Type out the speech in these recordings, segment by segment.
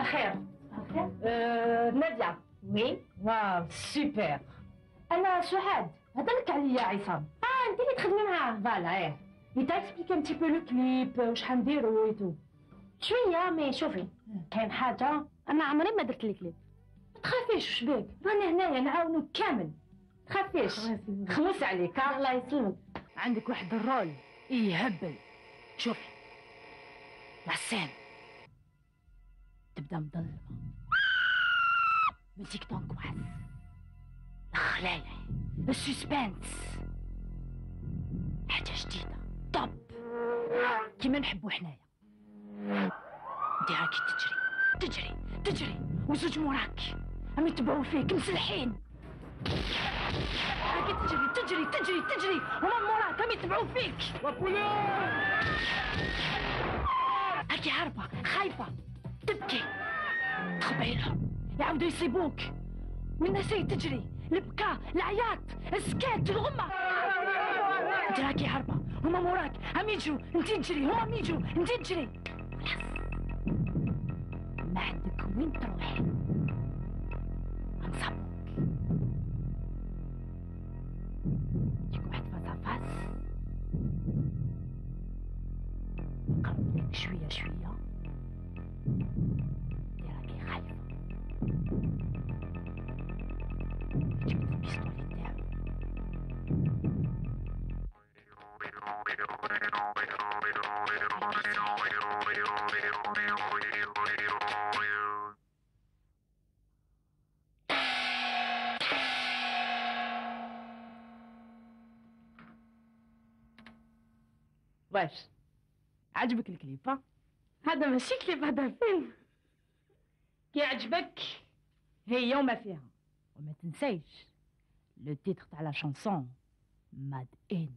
الخير. الخير. نادية. وي. واو سوبر. انا سعاد، هضرلك عليا عصام. انت اللي تخدمي معاه. فوالا ايه. يتا اكسبليكي ان تي بو لو كليب وشحال نديرو اي تو. شويه مي شوفي، كاين حاجه انا عمري ما درت لي كليب. ما تخافيش، وش بيك؟ راني هنايا نعاونوك كامل. تخافيش. خمس عليك. الله يسلمك. عندك واحد الرول يهبل. شوفي لاسين تبدا مظلمه، ميوزيك دونكواس، الخلايع، السسبانس، حاجه جديده طب كيما نحبو حنايا. انت راكي تجري وزوج موراك راهم يتبعوا فيك مسلحين. راكي تجري هما موراك راهم يتبعوا فيك. راكي هاربه خايفه تبكي، تخبعي لهم يعاودوا يصيبوك، والناس هي تجري، البكاء، العياط، السكات، الغمه. انت راكي هاربه هما موراك هم يجروا، انت تجري هما يجروا، انت تجري. خلاص ما عندك وين تروحي، غنصابوك. يجيك واحد فاس قرب لك شويه انت راكي خايفه، جبت البيستولي تاعو واش عجبك الكليب؟ هذا ماشي كليب، هذا فيلم. كي عجبك هي وما فيها. وما تنسيش لو تيتر تاع لا شانسون ماد ان.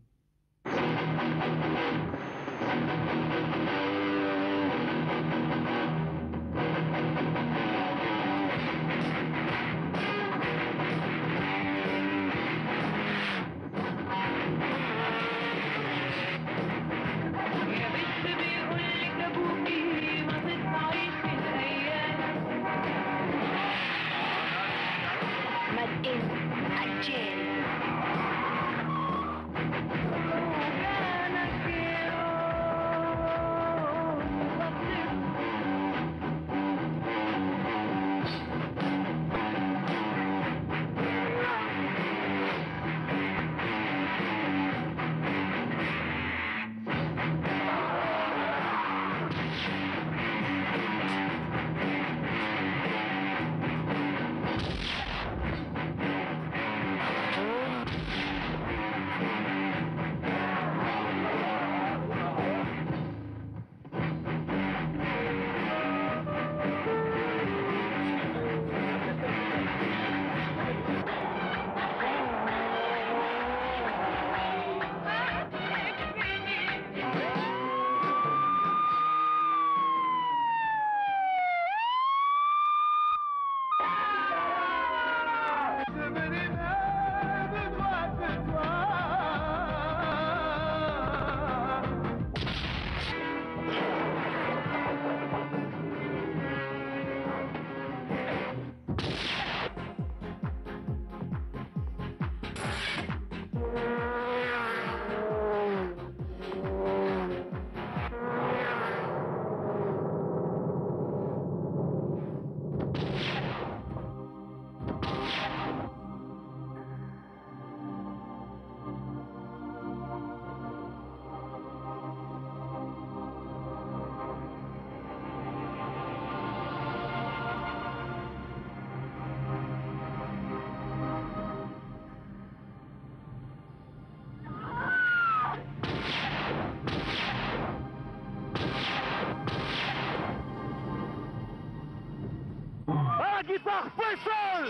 Guitare Faisal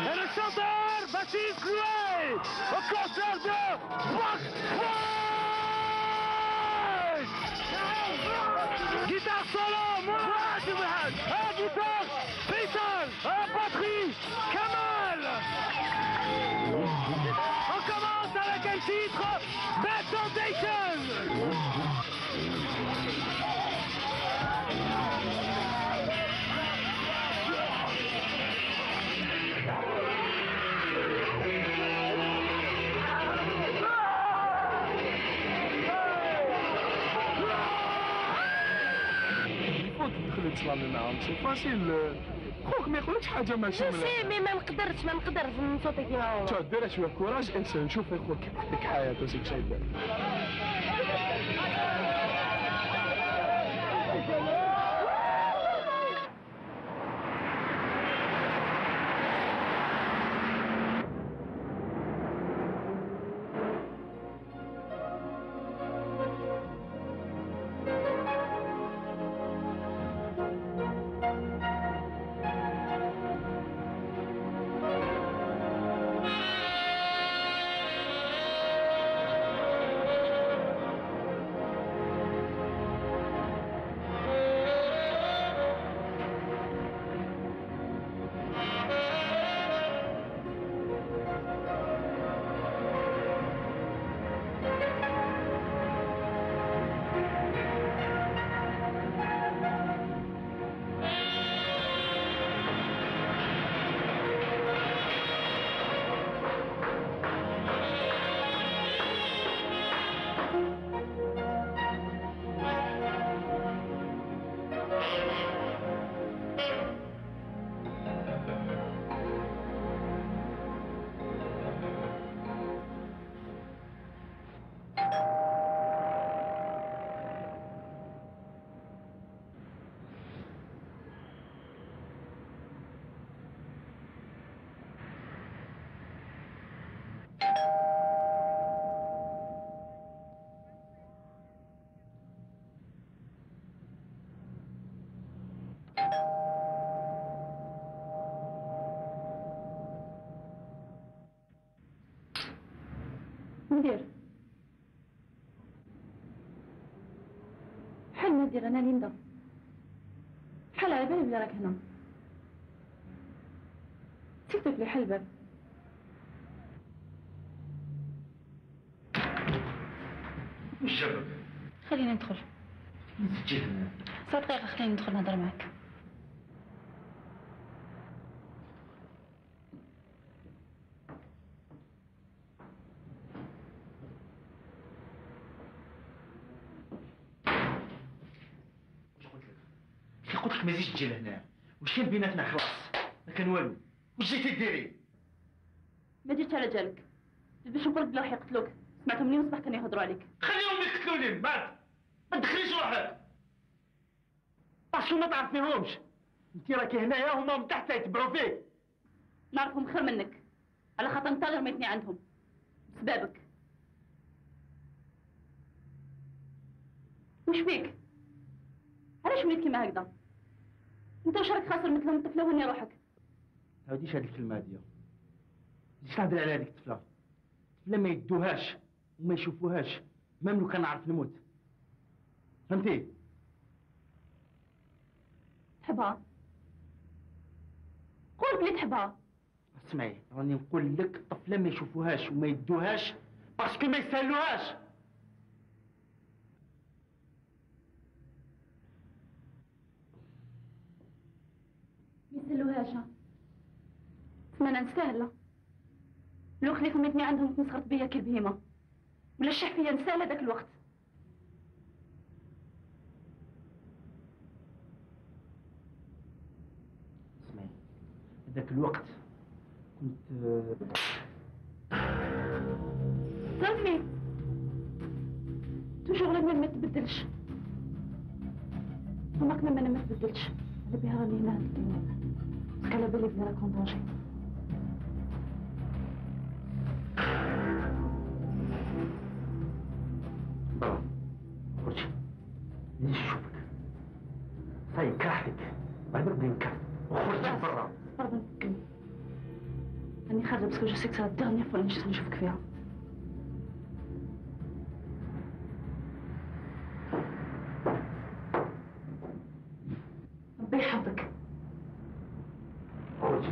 et le chanteur Baptiste Louet au concert de Fox Fox. Guitare solo, Mourad, guitare Faisal, batterie Kamal. On commence avec un titre, Bad Foundation. تتصلامي معاهم سي فاسيل. خوك ما يقولكش حاجه ماشي جو سي مي ما نقدرش نصوتي كيما هو. شوف دير شويه كوراج انسى نشوف خوك كيفك حياته سيك شايف. ندير حل ندير انا ليندا حل على بالي بلي راك هنا سيكتك لي حل الباب. وش جابك؟ خليني ندخل. تجي هنا 9 دقائق خليني ندخل نهضر معاك. قلت لك ما تجيش تجي لهنا. واش كان بيناتنا؟ خلاص ما كان والو. واش جيتي ديري؟ ما جيتش على جالك باش نقولك بلا يقتلوك. سمعتهم اليوم الصباح كانوا يهضروا عليك. خليهم يقتلوني من بعد. ما تدخليش روحك باسكو ما تعرفيهمش. انت راكي هنايا هما من تحت يتبعوا فيك. نعرفهم خير منك على خاطر انت اللي رميتني عندهم بسبابك. وش فيك؟ علاش وليت كيما هكذا؟ انت واش راك خاسر مثلهم الطفله وهني روحك؟ ما تعاوديش هذه الكلمه هاديه. مش تهضري على هذيك الطفله. الطفله ما يدوهاش وما يشوفوهاش مام لو كان نعرف نموت. فهمتي؟ تحبها؟ قول بلي تحبها. اسمعي راني نقول لك الطفله ما يشوفوهاش وما يدوهاش باسكو ما يسالوهاش. ما يسلوهاش. تسمى انا نستاهله. لو خليت رميتني عندهم كنت صغرت بيا كي البهيمه ولا الشح فيا نستاهل هذاك الوقت. اسمعي هذاك الوقت كنت صافي توجور لا ما تبدلش. هما كمان انا ما تبدلش. على بها راني هنا هاد الكلمه باسكو على بالي بلي راك اون دونجي. برا خرجي ليش نشوفك. صاي كرهتك بعد بدي نكرهك وخرجي برا. برا نتكلم راني خارجه باسكو جو سي كو سا لا ديرنيير فوا اللي نشوفك فيها. ربي يحفظك. خرجي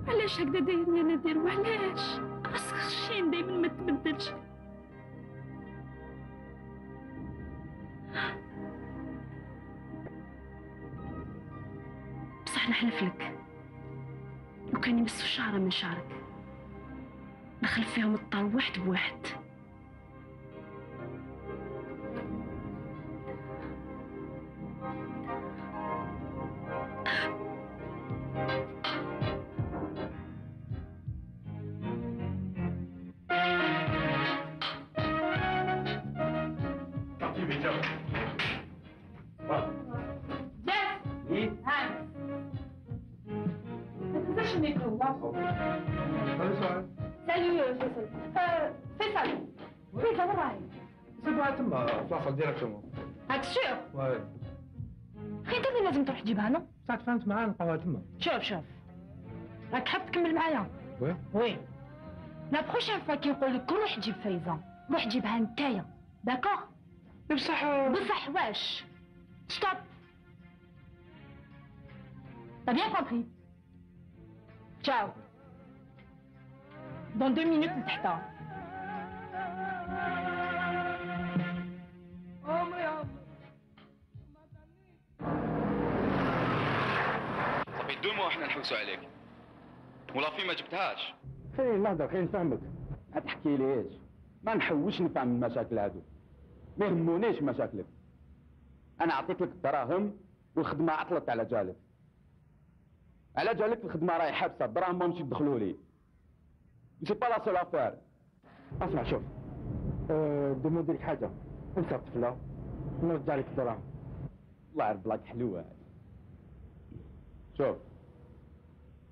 علاش هكذا داير يا نادر؟ وعلاش راسك خشين دايما ما تبدلش؟ بصح نحلف لك لو كان يمسوا شعره من شعرك دخل فيهم الطار واحد بواحد. فلاصه ديريكتومون. هاك سيغ؟ واي. خي انت اللي لازم تروح تجيبها نو؟ ساعة تفاهمت معاه نلقاوها تما. شوف راك حاب تكمل معايا؟ وي لا بروشين فوا كي نقول لك روح جيب فايزة روح جيبها نتايا داكور؟ بصح واش؟ ستوب. T'as bien compris? Ciao. Dans 2 minutes لتحتها. صافي 2 موا احنا نحوسوا عليك ولا في ما جبتهاش. خليني نهضر خليني نفهمك. ما تحكي ليش ما نحوش نفهم المشاكل هادو، ما يهمونيش مشاكلك. انا عطيت لك الدراهم والخدمه عطلت على جالك. على جالك الخدمه راهي حابسه، الدراهم ما مشي يدخلوا لي. سي با لا سول افير. اسمع شوف دوموندي لك حاجه، انسى الطفله نرجع لك الدراهم. الله يعرف بلاك حلوه هذه. شوف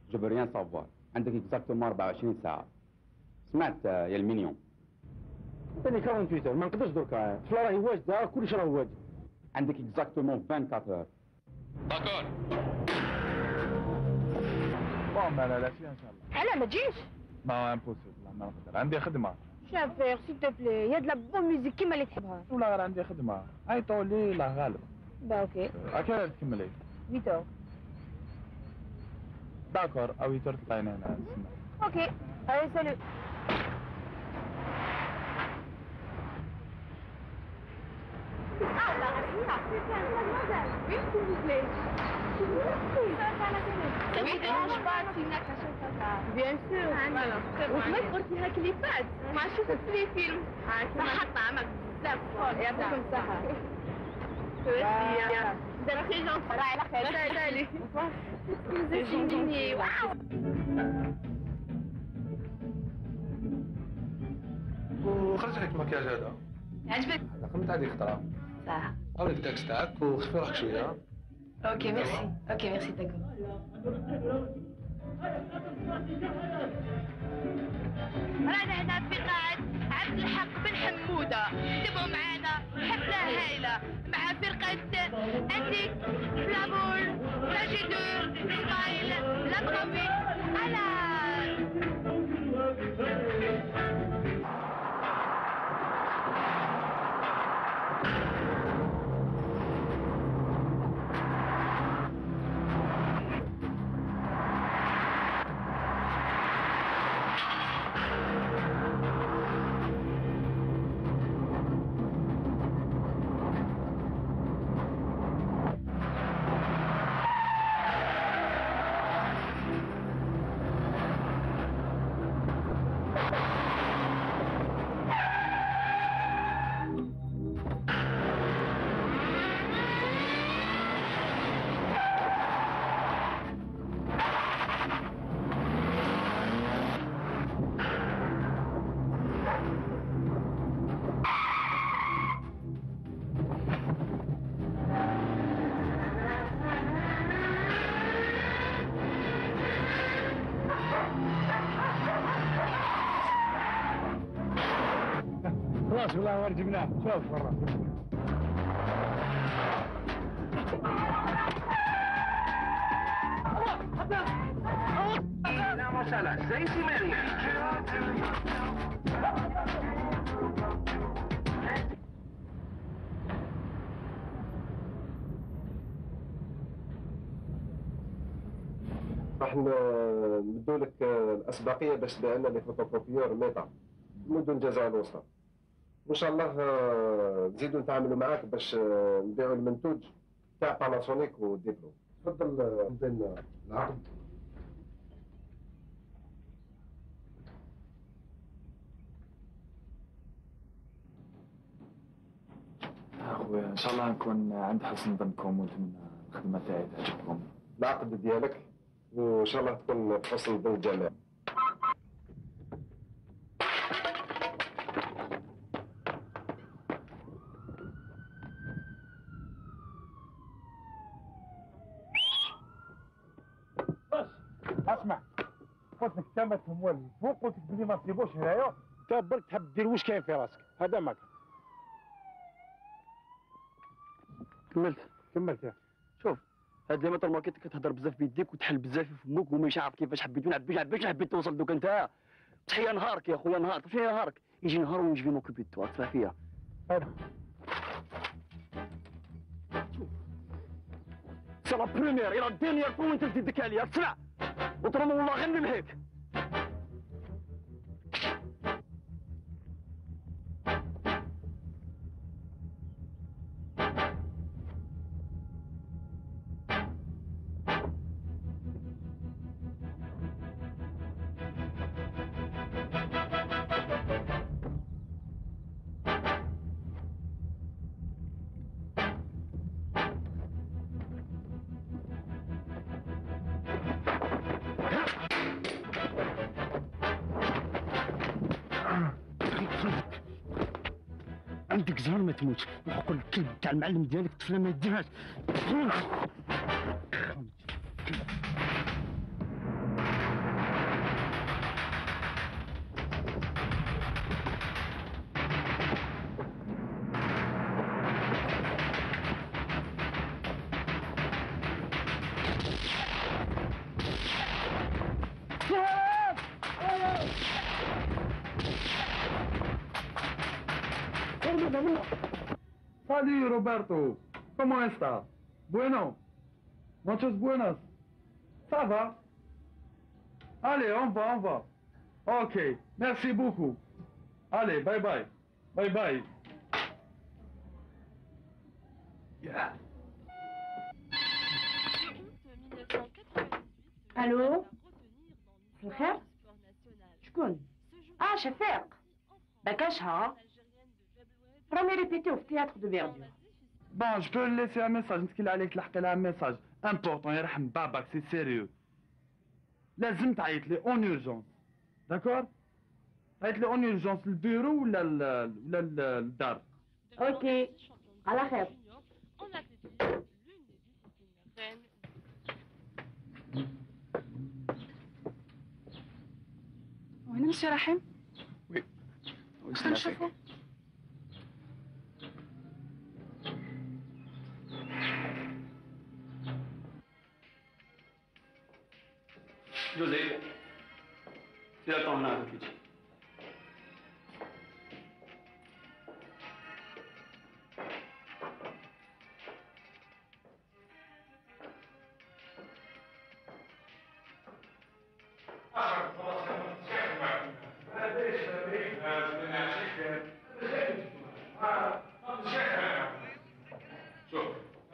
جو فو ريان سافوار، عندك اكزاكتومون 24 ساعه. سمعت يا المينيون؟ ثاني 48 ما نقدرش دركا، الطفله راهي واجده كلشي راه واجد. عندك اكزاكتومون 24 اور. داكور. بون انا لا ان شاء الله. انا ما تجيش؟ ما امبوسيبل ما نقدر، عندي خدمه. شافير سيل تو بلي يا د لا بون ميوزيك كيما اللي تحبها. ولا غير عندي خدمه، عيطوا لي لا غالب. با اوكي. اكيد تكملي. 8 داكور او يتر تلاقينا هنا نستنى. اوكي هاي سالو. Ça vous dérange pas si une action comme ça? Bien sûr. وكمان قلتي هاك اللي فات ما شفت لي فيلم صحة طعمك بزاف يعطيكم الصحة. دابا خي جون راهي على خير. سالي سالي. واو. وخرج لك المكياج هذا. عجبك؟ خدمت هذيك الخطره. صح. هاوليك التاكس تاعك وخفي روحك شويه. اوكي ميرسي. اوكي ميرسي داكور. رانا هنا في قاعة عبد الحق بن حمودة، تبقوا معانا حفلة هايلة مع فرقة انتيك فلامور راجيدور سمايل لابغومي على خلاص والله ورد جبناه، شوف برا. La Mosala, 6:30. راح نبدو لك الاسبقيه باش تبيع لنا لي فوتوكوبيور ميتا مدن الجزائر الوسطى. وان شاء الله نزيدوا نتعاملوا معاك باش نبيعوا المنتوج تاع باناسونيك وديبلو. تفضل نبدا العقد. اخويا ان شاء الله نكون عند حسن ظنكم ونتمنى الخدمه تاعي تعجبكم. العقد ديالك وان شاء الله تكون بحسن ظن الجميع. اسمع، قلت لك انت ما تهمل فوق، قلت لك بلي ما تجيبوش هنايا، انت برك تحب دير واش كاين في راسك، هذا ما كان. كملت. شوف هاد لي مطر ماركيت كتهضر بزاف بيديك وتحل بزاف في فمك وماش عارف كيفاش حبيت نعبيش حبيت توصل دوك انت. تحيا نهارك يا خويا، نهار تحيا نهارك، يجي نهار ونجي موكوبي دو تسمع فيا. سي لا بروميير اي لا دينيير فوا انت تزيدك عليا، تسمع وطرمو والله غير نمحيك. عندك زهر ما تموت، وحق الكلب تاع المعلم ديالك الطفله ما يديرهاش. Salut Roberto, comment estás? Bueno, muchas buenas. Ça va? Allez, on va. Ok, merci beaucoup. Allez, bye bye. Bye bye. Yeah. الو الخير شكون؟ شفيق باكاشها راني ريبيتيو في تياتر دو فيردور. Bon, je peux le laisser un message, نتكلم عليك تلحق لها un message important يرحم باباك سي سيريو. لازم تعيط لي اون اورجونس، داكور؟ تعيط لي اون اورجونس للبيرو ولا للدار. اوكي على خير. وين مسي رحيم؟ وي خلينا نشوفو. جوزيف سير طون هنا في الكيتشن. شوف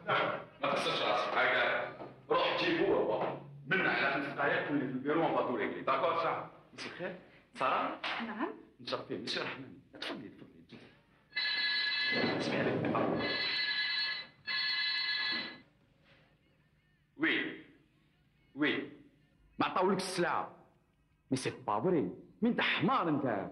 ما تخسرش راسك، هكا روح جيبوه هو من على 5 دقائق تولي في البيرو اون فاتو ريكلي، داكور صح؟ مساء الخير، سارة؟ نعم. نشرف فيه مسيو رحمن، تفضلي اسمعي لي. وي ما عطاولكش السلعة، مي سي با فري، مي انت حمار انت،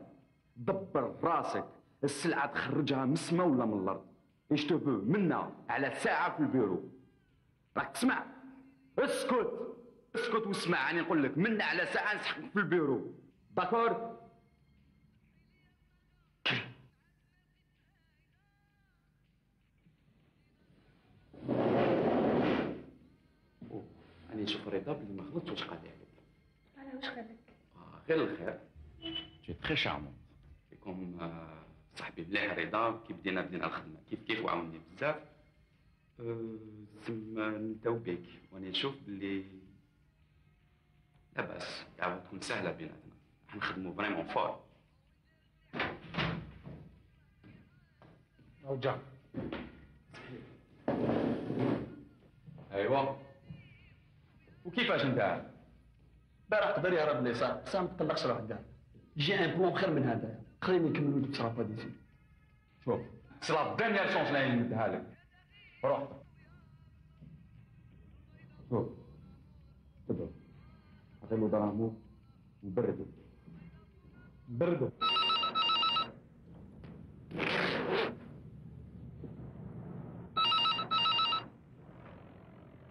دبر راسك، السلعة تخرجها من السما ولا من الأرض، ايش تبو منا على ساعة في البيرو، راك تسمع؟ اسكت واسمع، راني نقول لك منا على ساعة نسحقك في البيرو، داكور؟ راني نشوف رضا بلي ما غلطش واش قال لي عليك. انا واش قال لك؟ غير الخير، جي تري شارمون، كيكون صاحبي مليح رضا، كي بدينا الخدمة كيف وعاوني بزاف، تسمى نبداو بيك، واني نشوف بلي لاباس تعاود تكون سهلة بيناتنا، راح نخدمو فريمون فور. رجع ايوا وكيفاش انت؟ البارح قدر يهرب اليسار، بصح ما تقلقش روحك كاع. جي ان بلون خير من هذا، خليني نكملوا ديك الشرافه ديزي. شوف سي لا دانيير شونس اللي نمدها لك. روح شوف تبع عطي له دراهمو وبردو بردو.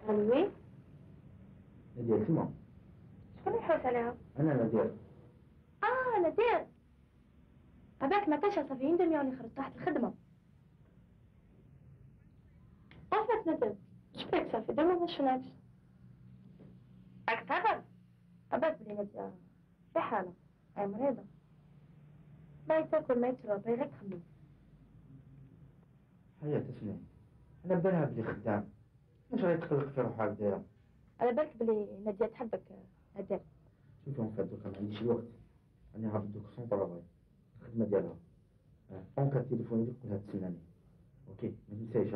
وي نادية تما. شكون يحوس عليها؟ أنا نادية. نادير. هذاك ما كانش صافي 1 دمية اللي خرجت تحت الخدمة. عرفت نادير، شبيك صافي دابا ما شفناكش. راك تعرف؟ عبالك بلي نادية في حالة، هي مريضة. ما تاكل ما تشرب، غير تخمم. حياة اسمعي، أنا بالها بلي خدام، واش غادي تقلق في روحها هكذايا؟ على بالك بلي نادية تحبك نادير. شوفي اون فات دوكا ما عنديش الوقت، راني هابط دوك سون طرافاي، الخدمة ديالها. اونكا تليفوني لك قولها تسناني، اوكي ما تنسايش.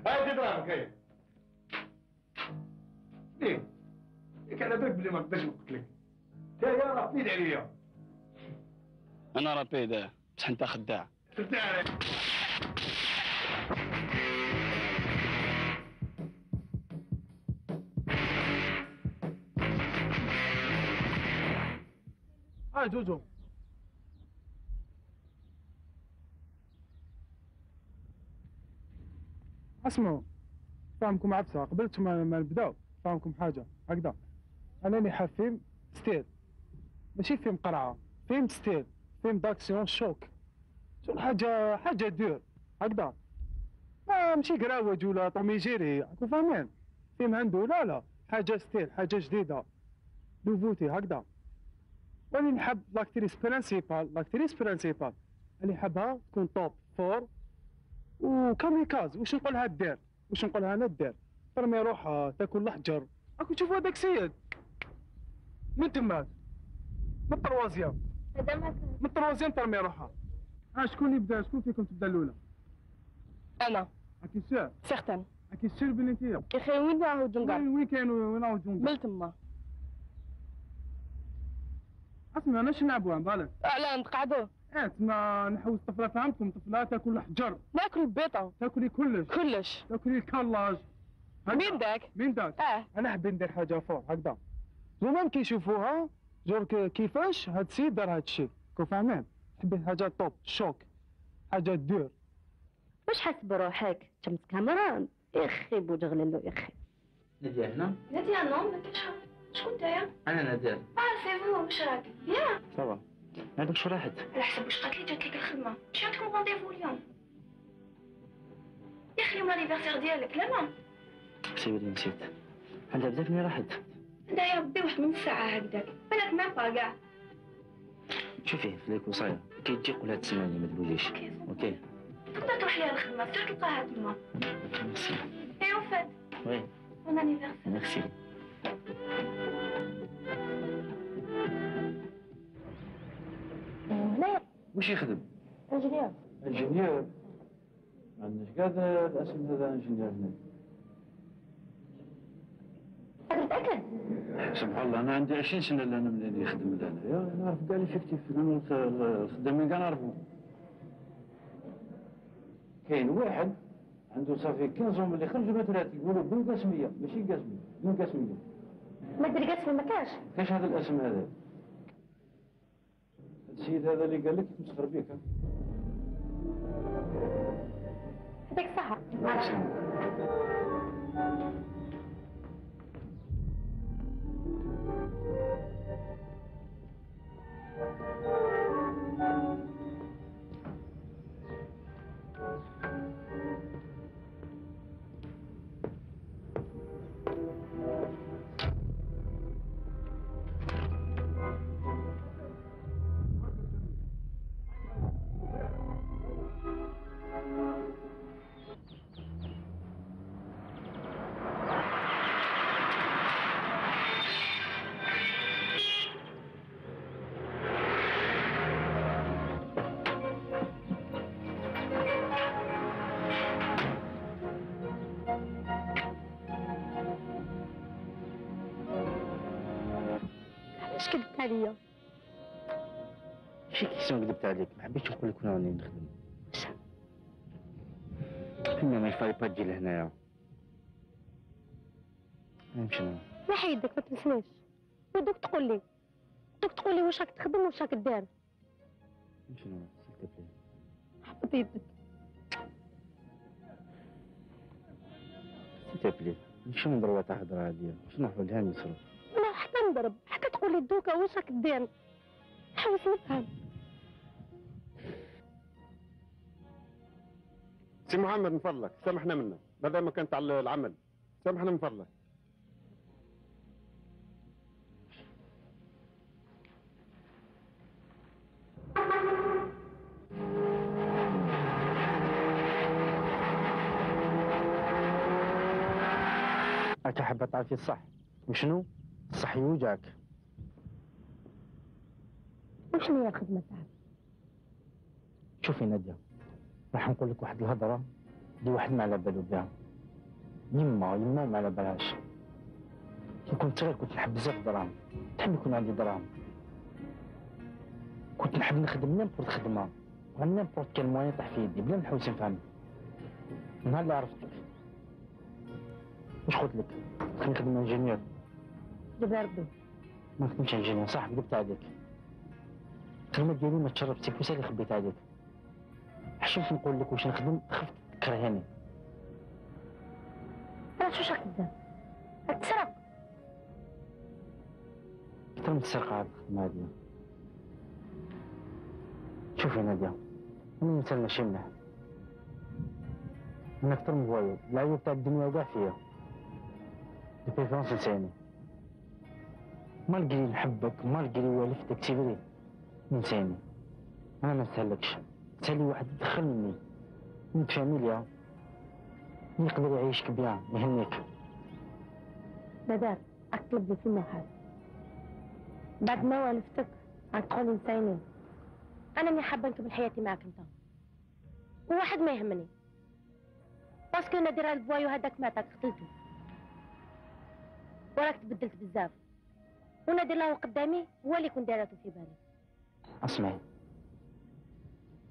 هاي دراهمك هاي. ليك على بالك بلي ما نقدرش نقتل لك. يا راه بيد عليا. انا راه بيدا بصح انت خداع. خداع. هاي جوجو. اسمعوا، فاهمكم عبسة قبلت ما نبداو، فاهمكم حاجة هكذا. أنا اللي حاب فيلم ستيل، ماشي فيلم قرعة، فيلم ستيل، فيلم داكسيون شوك. شغل حاجة دور هكذا. ماشي قراوج ولا طومي جيري، راكم فاهمين؟ فيلم عنده لا حاجة ستيل، حاجة جديدة، نوفوتي هكذا. وأنا نحب لاكتريس برانسيبال اللي حابها تكون توب فور وكاميكاز. واش نقولها دير، واش نقولها انا دير، ترمي روحها تاكل الحجر. راكم تشوفوا هذاك السيد من تماك من الطروازيام، من الطروازيام ترمي روحها. شكون اللي بدا؟ شكون فيكم تبدا الاولى؟ أنا. راكي سير؟ سيغتان. راكي سير بلي انت؟ يا أخي وين راهو جونغار؟ وين كاين وين راهو جونغار؟ من تما. اسمع انا نلعبوها بالك؟ لا نتقعدوا. تما نحوس طفله، فهمتكم؟ طفله تاكل الحجر، ناكل البيضة. تاكلي كلش، تاكلي الكلاج. مين داك؟ انا حبيت ندير حاجه فوق هكذا. زمان كيشوفوها جور كيفاش هاد السيد دار هاد الشيء، راكم فاهمين؟ حبيت حاجه توب شوك، حاجه دور. واش حاس بروحك؟ شمس كاميرا يخي بوجغللو يخي. نادية هنا؟ نادية نو ما كاينش. شكون نتايا؟ أنا نادية. سي فو واش راك؟ بيان. صافا. هذاك شو راحت؟ على حسب واش قالت لي جات لك الخدمة، مش عندكم رونديفو اليوم؟ يا أخي اليوم لانيفرسير ديالك لا سيبي لي نسيت. عندها بزاف اللي راحت. عندها يا ربي واحد من ساعة هكذاك، بالك ما با كاع. شوفي في ليك وصاية، كي تجي قولها تسمعني ما تبوجيش. اوكي. تقدر تروح ليها الخدمة، تقدر تلقاها تما. ميرسي. اي اون فات. وي. بون انيفرسير. ميرسي. هنايا. وش يخدم؟ انجينيور. انجينيور؟ ما عندناش كاع الاسم هذا انجينيور هنا. متأكد؟ سبحان الله انا عندي 20 سنه اللي انا ملي نخدم هنا، نعرف كاع ليفيكتيف، الخدامين كاع نعرفهم. كاين واحد عنده صافي 15 ملي خرج من الثلاث يقولوا بن قاسميه، ماشي قاسميه، بن قاسميه. ما دير قاسمي ما كاش. كاش هذا الاسم هذا. هذا السيد هذا اللي قال لك يتمسخر بك. هذيك صح. علاش كذبت عليا؟ ماشي كيسيون كذبت عليك، ما حبيتش نقول لك وين راني نخدم. فينا ما يفالي با تجي لهنايا. نمشي انا. نحي يدك ما تمسنيش. ودوك تقول لي واش راك تخدم واش راك داير. نمشي انا سيل تبلي. حبط يدك. سيل تبلي. ماشي نضربها تاع هضره عاديه، باش نروحو لها نصرف. انا حتى نضرب، حتى تقول لي دوكا واش راك داير. حاول نفهم. سي محمد من فضلك سامحنا منا، هذا ما كان تاع العمل، سامحنا من فضلك. راك حابة تعرفي الصح، وشنو؟ الصح يوجعك. وشنو هي الخدمة تاعك؟ شوفي نادية، راح نقول لك واحد الهضرة اللي واحد ما على بالو بها. يما ما على بالهاش. كي كنت صغير كنت نحب بزاف الدراهم، نحب يكون عندي دراهم. كنت نحب نخدم نيمبورت خدمة، نيمبورت كان موان يطيح في يدي بلا نحوس نفهم. نهار اللي عرفتك واش قلت لك؟ خليني نخدم انجينيور. دبر ربي. ما نخدمش انجينيور صح، كذبت عليك. الخدمة ديالي ما تشرب سي بوسه اللي خبيت عليك. حشمت نقول لك واش نخدم، خفت تكرهني. علاش واش راك دير؟ راك تسرق. أكثر من السرقة هاد الخدمة هادي. شوفي نادية، أنا إنسان ماشي مليح. أنا أكثر من فوايو، العيوب تاع الدنيا كاع فيا. دي بريفيرونس نساني. مالقري نحبك، مالقري والفتك سيفري. نساني. أنا ما نستهلكش. تسالي واحد يدخل مني. من فاميليا. يقدر يعيشك بيان، يهنيك. بدار، راك تطلب لي في المحل. بعد ما والفتك راك تقولي نساينين. انا ملي حابه نكمل حياتي معاك انت. وواحد ما يهمني. باسكو نادر البوايو هذاك مات قتلته. وراك تبدلت بزاف. ونادر له قدامي هو اللي كنت دايرته في بالي. اسمعي.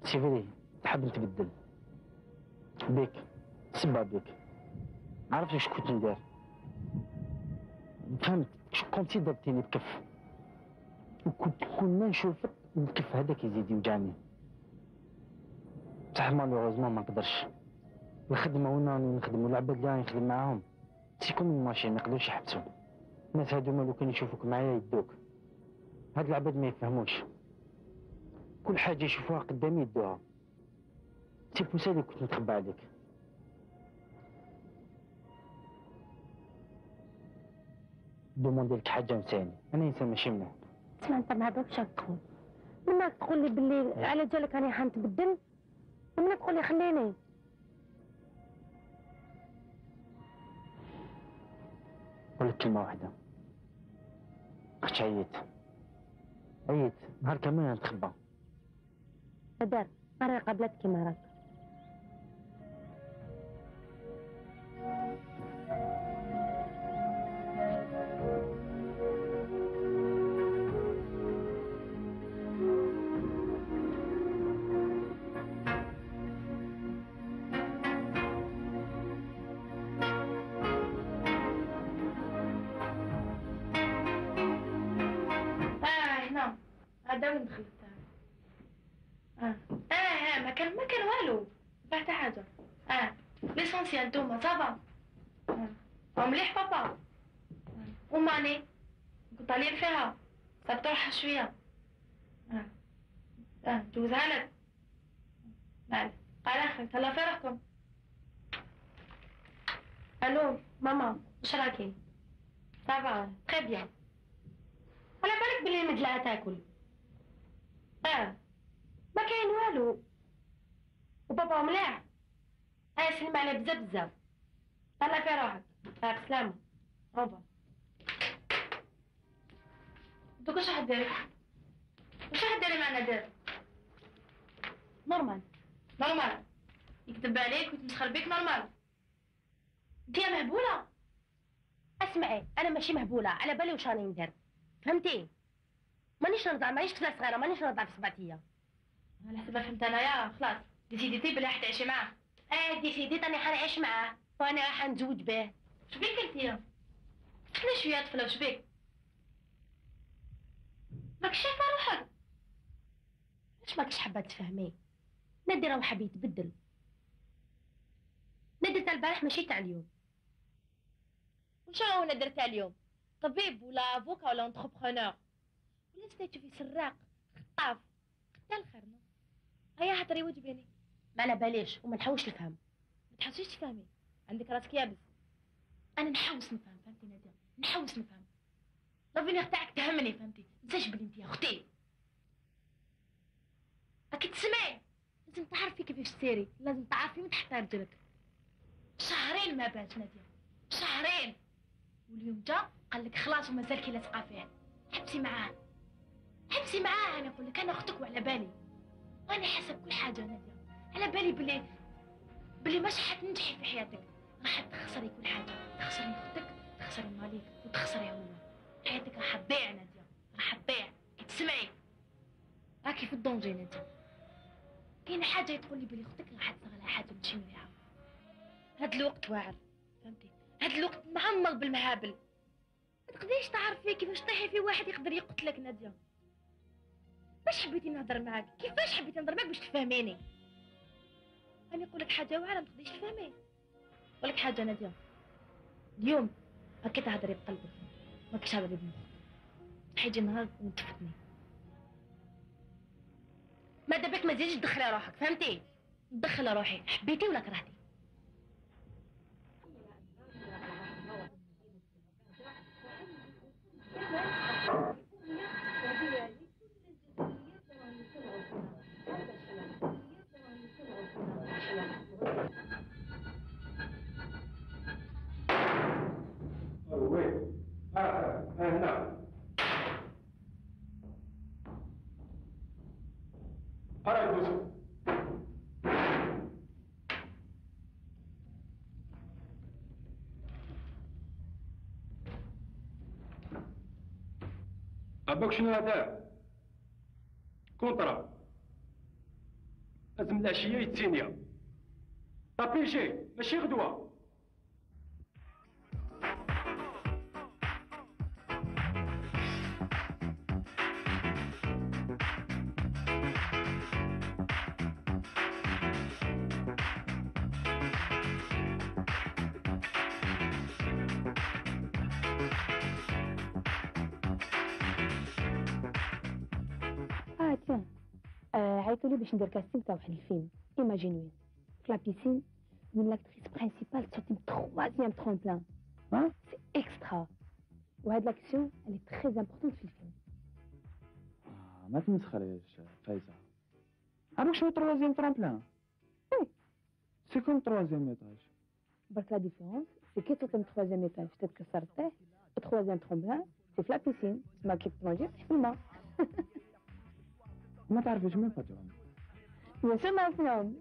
سيفيري تحب نتبدل. بيك. سبا بيك. عرفت واش كنت ندير. فهمت كنتي ضربتيني بكف. وكنت كل ما نشوفك الكف هذاك يزيد يوجعني. بصح مالوغوزمون ما نقدرش. الخدمة وين راني نخدم والعباد اللي راني نخدم معاهم سيكون من ماشين ما يقدروش يحبسوا. الناس هادوما لو كان يشوفوك معايا يدوك. هاد العباد ما يفهموش. كل حاجة يشوفوها قدامي يدوها. سي بوسا اللي كنت نتخبى عليك. دوموندي لك حاجة نساني، أنا إنسان ماشي مليح. اسمع انت مع دوك شاك تقول. منك تقول لي باللي على جالك راني حنتبدل ومنك تقول لي خليني. نقول لك كلمة واحدة. اختي عييت نهار كامل نتخبى. بدر مرة قابلتك كيما راك. هذا وين دخلت؟ ما كان والو بعد حاجه. ليسونسيال نتوما صافا. مليح بابا. وماني قلت عليه فيها صبتوها شويه. جوزها لك. بعد قال اخي تهلا في روحكم. الو ماما واش راكي؟ صافا تري بيان. على بالك بلي المدلعه تاكل. ما كاين والو. وبابا مليح. سلم عليه بزاف. طلع في روحك. بسلامة. بابا. دوك واش راح ديري؟ واش راح ديري مع نادر؟ نورمال. يكذب عليك ويتمسخر بيك نورمال. انت يا مهبوله. اسمعي انا ماشي مهبوله، على بالي واش راني ندير، فهمتي؟ مانيش نرضع، مانيش طفله صغيره، مانيش نرضع في 7 ايام. على حسب فهمت انايا خلاص ديسيديتي بلي راح تعيشي معاه. ديسيديت راني حنعيش معاه وانا راح نتزوج به. شبيك انتيا؟ خلي شويه طفله وشبيك؟ ماكش شايفه روحك؟ علاش ماكش حابه تفهمي؟ نادي راه حاب يتبدل. نادي تاع البارح ماشي تاع اليوم. وش هو نادر تاع اليوم؟ طبيب ولا افوكا ولا انتربرونور ولا ستاتو في سراق خطاف قتال خرنا. هيا هضري وجبيني. ما على باليش وما نحوش نفهم. ما تحوسيش تفهمي، عندك راسك يابس. انا نحوس نفهم، فهمتي ناديه؟ نحوس نفهم. لافينيغ تاعك تهمني، فهمتي؟ متنساش بلي انت يا اختي. راكي تسمعي؟ لازم تعرفي كيفاش تسيري، لازم تعرفي من تحت رجلك. شهرين ما بات ناديه، شهرين. واليوم جا قال لك خلاص ومازال كي لاصقه فيه. حبسي معاه، حبسي معاه. انا نقول لك انا اختك وعلى بالي، وانا حسب كل حاجه ناديه. على بالي بلي مش حتنجحي في حياتك، راح تخسري كل حاجه، تخسري اختك، تخسري مالك، وتخسري هو. حياتك راح تضيع ناديه، راح تضيع. كي تسمعي راكي في الدونجي ناديه. كاين حاجه تقول لي بلي اختك راح تصير لها حاجه ماشي مليحه. هاد الوقت واعر، فهمتي؟ هاد الوقت معمر بالمهابل. ما تقدريش تعرفي كيفاش طيحي في واحد يقدر يقتلك ناديه. باش حبيتي نهضر معاك؟ كيفاش حبيتي نهضر معاك باش تفهميني؟ انا نقول لك حاجه واعره ما تقدريش تفهمي. نقول لك حاجه ناديه، اليوم هكا تهضري بقلبك، ماكش تهضري بمخك. حيجي نهار وتفوتني. ما دابك ما تزيدش تدخلي روحك، فهمتي؟ ندخل روحي، حبيتي ولا كرهتي. وين؟ هنا. قرأ يوسف. أباك شنو هذا؟ كونطرا. لازم العشية يتسينيا. طابيجي ماشي غدوة. تيان عيطوا لي باش ندير كاستينغ تاع واحد الفيلم ايماجينوي في لا بيسين من لاكتريس برينسيبال تصوتي من 3e ترومبلان. ها سي اكسترا. وهاد لاكسيون اللي تري امبورطونت في الفيلم. ما تمسخريش فايزه. عارف شنو 3e ترومبلان؟ وي سي كوم 3e ايطاج. برك لا ديفيرونس سي كي تصوتي من 3e ايطاج تتكسر طيح، 3e ترومبلان سي في لا بيسين تسمى كي تنوجي في الماء. ما تعرفيش من باترون. بيان سور نعرفهم.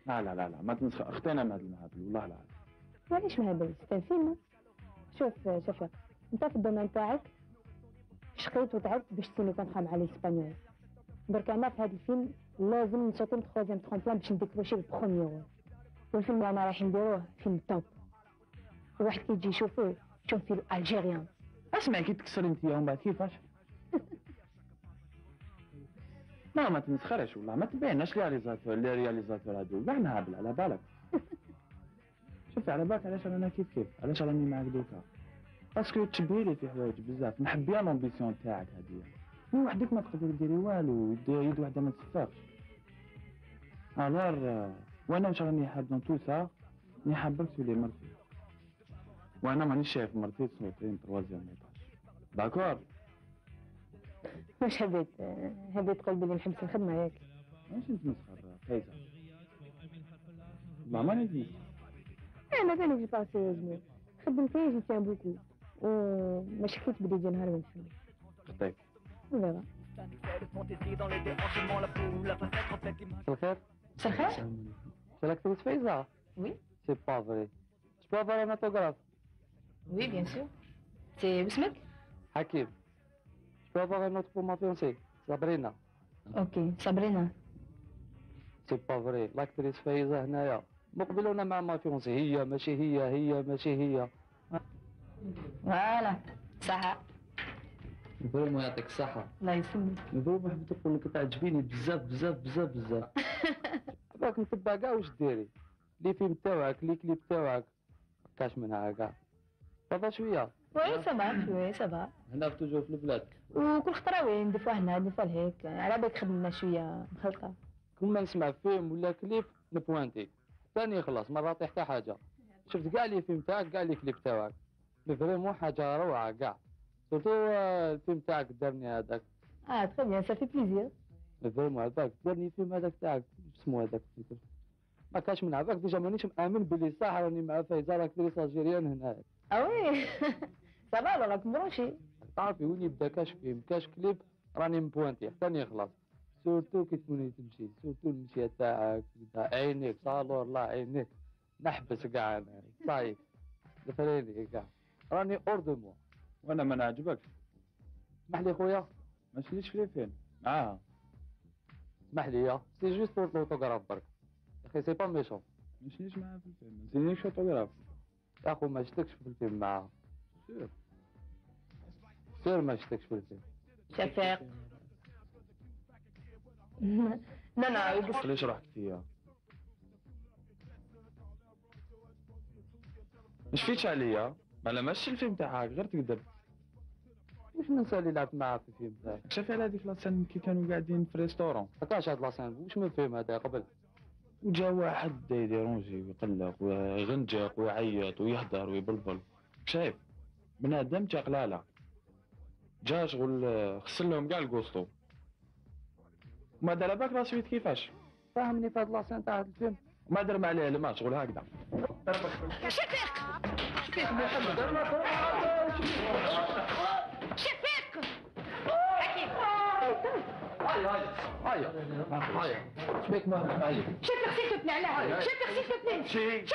لا لا لا لا ما تمسخر اختنا من هذا المهابل والله العظيم. معليش مهبل سي فيلم. شوف شفيق انت في الدومين تاعك شقيت وتعبت باش تسيني كونطرا مع الاسبانيول. برك انا في هذا الفيلم لازم نصوتي من 3e ترومبلان باش نديكروشي البروميير رول. والفيلم اللي انا رايحين نديروه فيلم توب. الواحد كي يجي يشوفوه شوف فيلم الجيريان. اسمع كي تكسر انت ومن بعد كيفاش؟ لا ما تمسخرش والله ما تبيناش لي رياليزاتور هادو كاع مهابل على بالك. شوفي على بالك علاش انا كيف علاش راني معاك دوكا؟ باسكو تشبهيلي في حوايج بزاف نحب بيان لومبيسيون تاعك هادية. من وحدك ما تقدر ديري والو يد وحده ما تسفاقش. الور وانا واش راني حاب دون تو سا راني حابك تولي مرتي. وانا مانيش شايف مرتي تصوتين 3e ايطاج. داكور؟ واش حبيت تقول بلي نحبس الخدمة ياك؟ ماشي نتمسخر فايزة. ما ماني نتمسخر. انا بالك جو بار سيريوزمون خدمتي جي تيان بوكو وما شكيت بلي يجي نهار ونفهم. خطيك. فوالا. الخير. مساء الخير. C'est l'actrice Faiza? Oui. C'est pas vrai. Je peux avoir un autographe? Oui, bien sûr. C'est Ousmek? Hakim. Je peux avoir un autre pour ma fiancée, Sabrina? Ok, Sabrina. C'est pas vrai. l'actrice Faiza هنايا. مقبل وانا مع ما فيونسي، هي ماشي ماشي هي. فوالا صح. فريمون يعطيك الصحة. الله يسلمك. فريمون حبيت نقول لك تعجبيني بزاف بزاف بزاف بزاف. راك نتبع كاع واش ديري. لي فيلم تاعك، لي كليب تاعك. كاش منها كاع. صافا شوية. وي سافا شوي سافا. هنا توجور في البلاد. وكل خطرة وين دفوا هنا دفوا لهيك، على بالك خدمنا شوية مخلطة. كل ما نسمع فيلم ولا كليب نبوانتي. ثاني خلاص ما نعطي حتى حاجة. شفت كاع لي فيلم تاعك كاع لي كليب تاعك. فريمون حاجة روعة كاع. سورتو الفيلم تاعك الدرني هذاك. تري بيان سا في بليزير. فريمون هذاك الدرني فيلم هذاك تاعك اسمو هذاك ما كاش من هذاك ديجا مانيش مآمن بلي صح راني مع فايزة راك تريس الجيريان هنايا. وي سافا راك مبروشي. تعرفي وين يبدا كاش فيلم كاش كليب راني مبوانتي حتى يخلص. سورتو كي تكوني تمشي سورتو المشية تاعك عينيك صالور الله عينيك نحبس كاع انا صايب دفريني كاع راني اوردمو وانا ما نعجبكش. اسمح لي خويا ما تشليش في الفيلم معاها. اسمح لي سي جوست بور لوطوغراف برك يا اخي سي با ميشون. ما تشليش معاها في الفيلم ما تزينيش اوتوغراف يا اخو ما شفتكش في الفيلم معاها. سير ما شفتكش في الفيلم. شفيق. لا يقص. ليش رحت فيها؟ مش فيتش عليا ما لمسش الفيلم تاعك غير تكذب. مش ننسى اللي لعبت معاه في الفيلم تاعك. شاف على هذيك لاسين كي كانوا قاعدين في ريستورون. ما كانش هاد لاسين واش من الفيلم هذا قبل. وجا واحد يديرونجي ويقلق ويغنجق ويعيط ويهدر ويبلبل. شايف بنادم تاع قلاله. جا شغل خسر لهم كاع الكوستو. ما دار بالك لا سويت كيفاش؟ فهمني في هاد لاسين تاع الفيلم. ما درم عليه الماء شغل هكذا. شفيق. شفيق محمد شفيق. هيا شبيك ما عليك. شفيق سيتو تنعنى هاي. شفيق سيتو تنعنى. شفيق.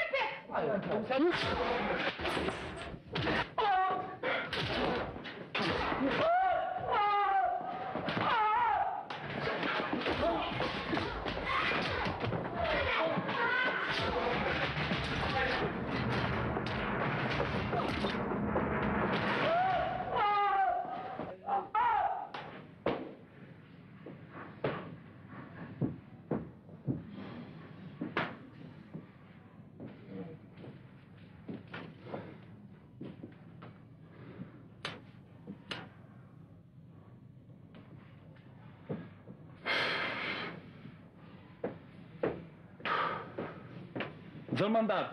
زلمندات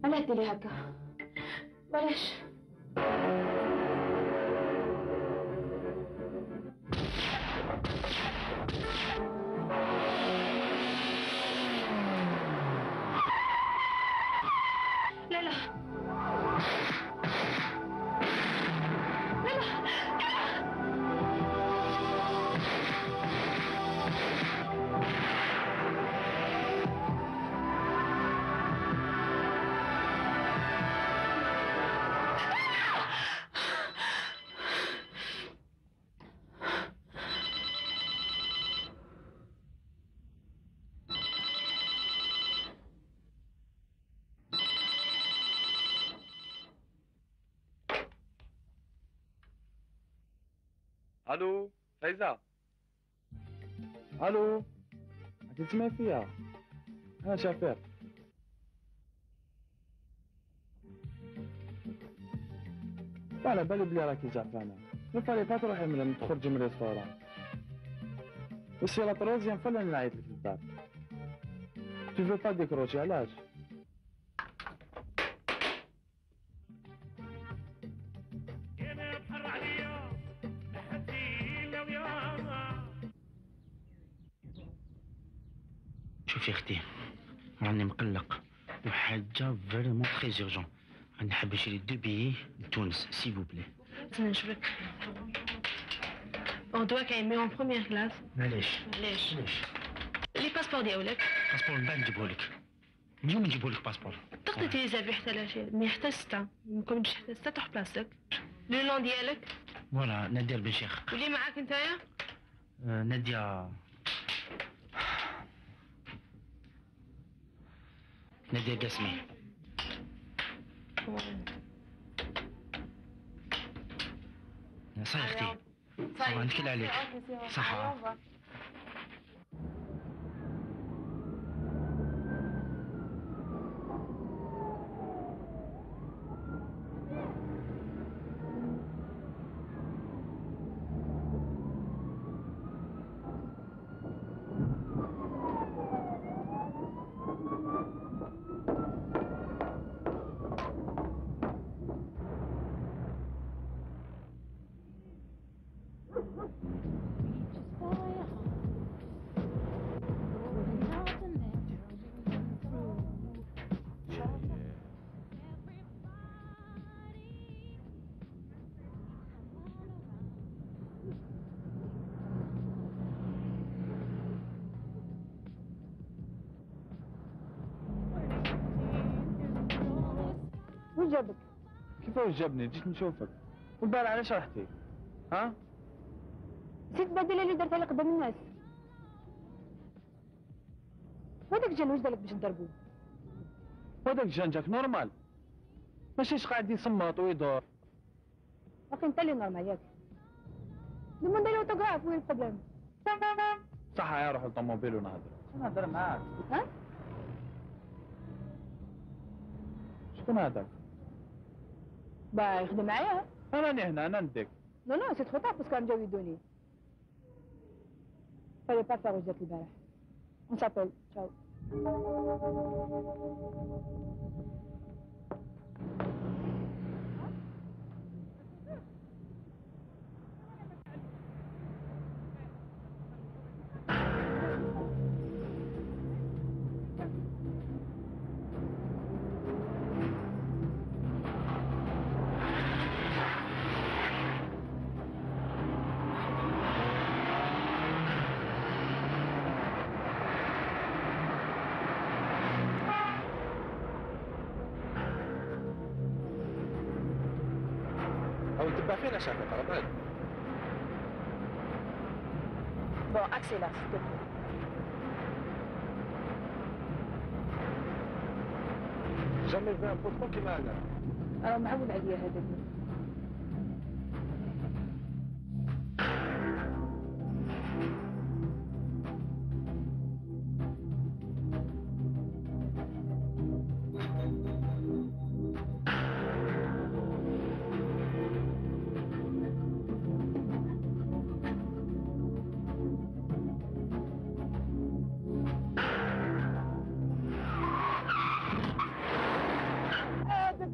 أنا أدري هكا بلاش. لا لا الو فايزة. الو تسمع فيها انا شفيق. على بالي بلي راكي زعفانة. ما فالي با تروحي من تخرجي من الريستوران. وسي لا تروزيام فلا نعيط لك للدار. تو فو با ديكروشي علاش؟ شوفي اختي، راني مقلق وحاجه فريمون تري جيرجون. راني حاب نشري 2 بيي لتونس سيفو بلي. استنى نشوفك. دوا كاين مي اون بروميير كلاس. معليش علاش؟ علاش؟ لي باسبور ديالك باسبور من بعد نجيبهولك. اليوم نجيبهولك باسبور. تقدر تيزافي حتى لاشي مي حتى 6 ممكن تمشي حتى 6 تروح بلاصتك. لو نون ديالك فوالا نادية البنشيخ. واللي معاك نتايا؟ نادية قاسمي. صحيح اختي، صح نتكل عليك. صح. وين جابك؟ كيفاش جابني؟ جيت نشوفك. والبارح علاش رحتي؟ ها؟ نسيت البدله اللي درتها لي قدام الناس. وهذاك جا واش دارلك باش تضربوه؟ وهذاك جان جاك نورمال، ماشيش قاعد يصمت ويدور. ولكن انت اللي نورمال ياك. دوموندي لي اوتوغراف، وين البروبليم؟ صح يا روح للطوموبيل ونهضر. نهضر معاك. ها؟ شكون هذاك؟ با يخدم معايا. انا راني هنا، انا نديك. نو نو سي ترو طار باسكو راهم جاو يدوني. فالي با فار واش درت البارح. اون سابيل تشاو. او تبع فينا شافك على بالك. بون اكسيلار s'il te plaît. جامي في ان بوطون كيما هذا. راه معود عليا هذا.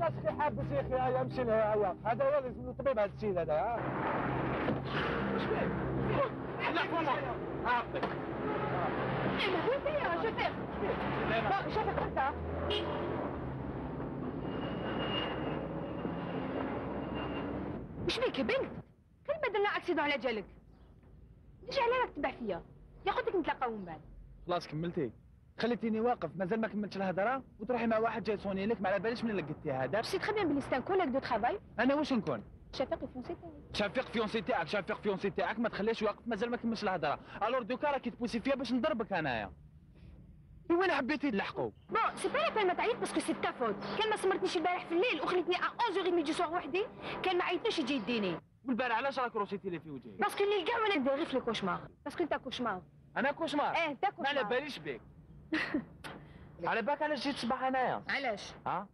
اخي حابس يا اخي، هيا امشي لها هيا. هذا هو لازم الطبيب هذا السيد هذا. ها اش فيك؟ لا فما عاقبك. انا وين فيا شوفير؟ شوفير انت. وش بيك يا بنت؟ كلمة درنا اكسيدون على جالك. ليش على راك تبع فيا؟ ياخذك نتلاقاو من بعد. خلاص كملتي؟ خليتيني واقف مازال ما كملتش الهضره وتروحي مع واحد جاي يصوني لك، ما على باليش من لقيتي هذا. سي تخي بيان بلي سي ان كوليك دو ترافاي. انا واش نكون؟ شفيق الفونسي تاعي. شفيق فيونسي تاعك، شفيق فيونسي تاعك ما تخليش واقف مازال ما كملش الهضره. الور دوكا راكي تبوسي فيا باش نضربك انايا. وين حبيتي تلحقوا؟ بون سي با لا بين ما تعيط باسكو سي تا فوت. كان ما سمرتنيش البارح في الليل وخليتني ا 11h30 دو سوار وحدي، كان ما عيطنيش يجي يديني. والبارح علاش راك روسيتي لي في وجهي؟ باسكو الليل كاع وانا ندير غير في الكوشمار، باسكو انت كوشمار. انا كوشمار؟ ايه انت كوشمار. ما على باليش بك. على بالك علاش جيت صباح انايا؟ علاش؟ ها؟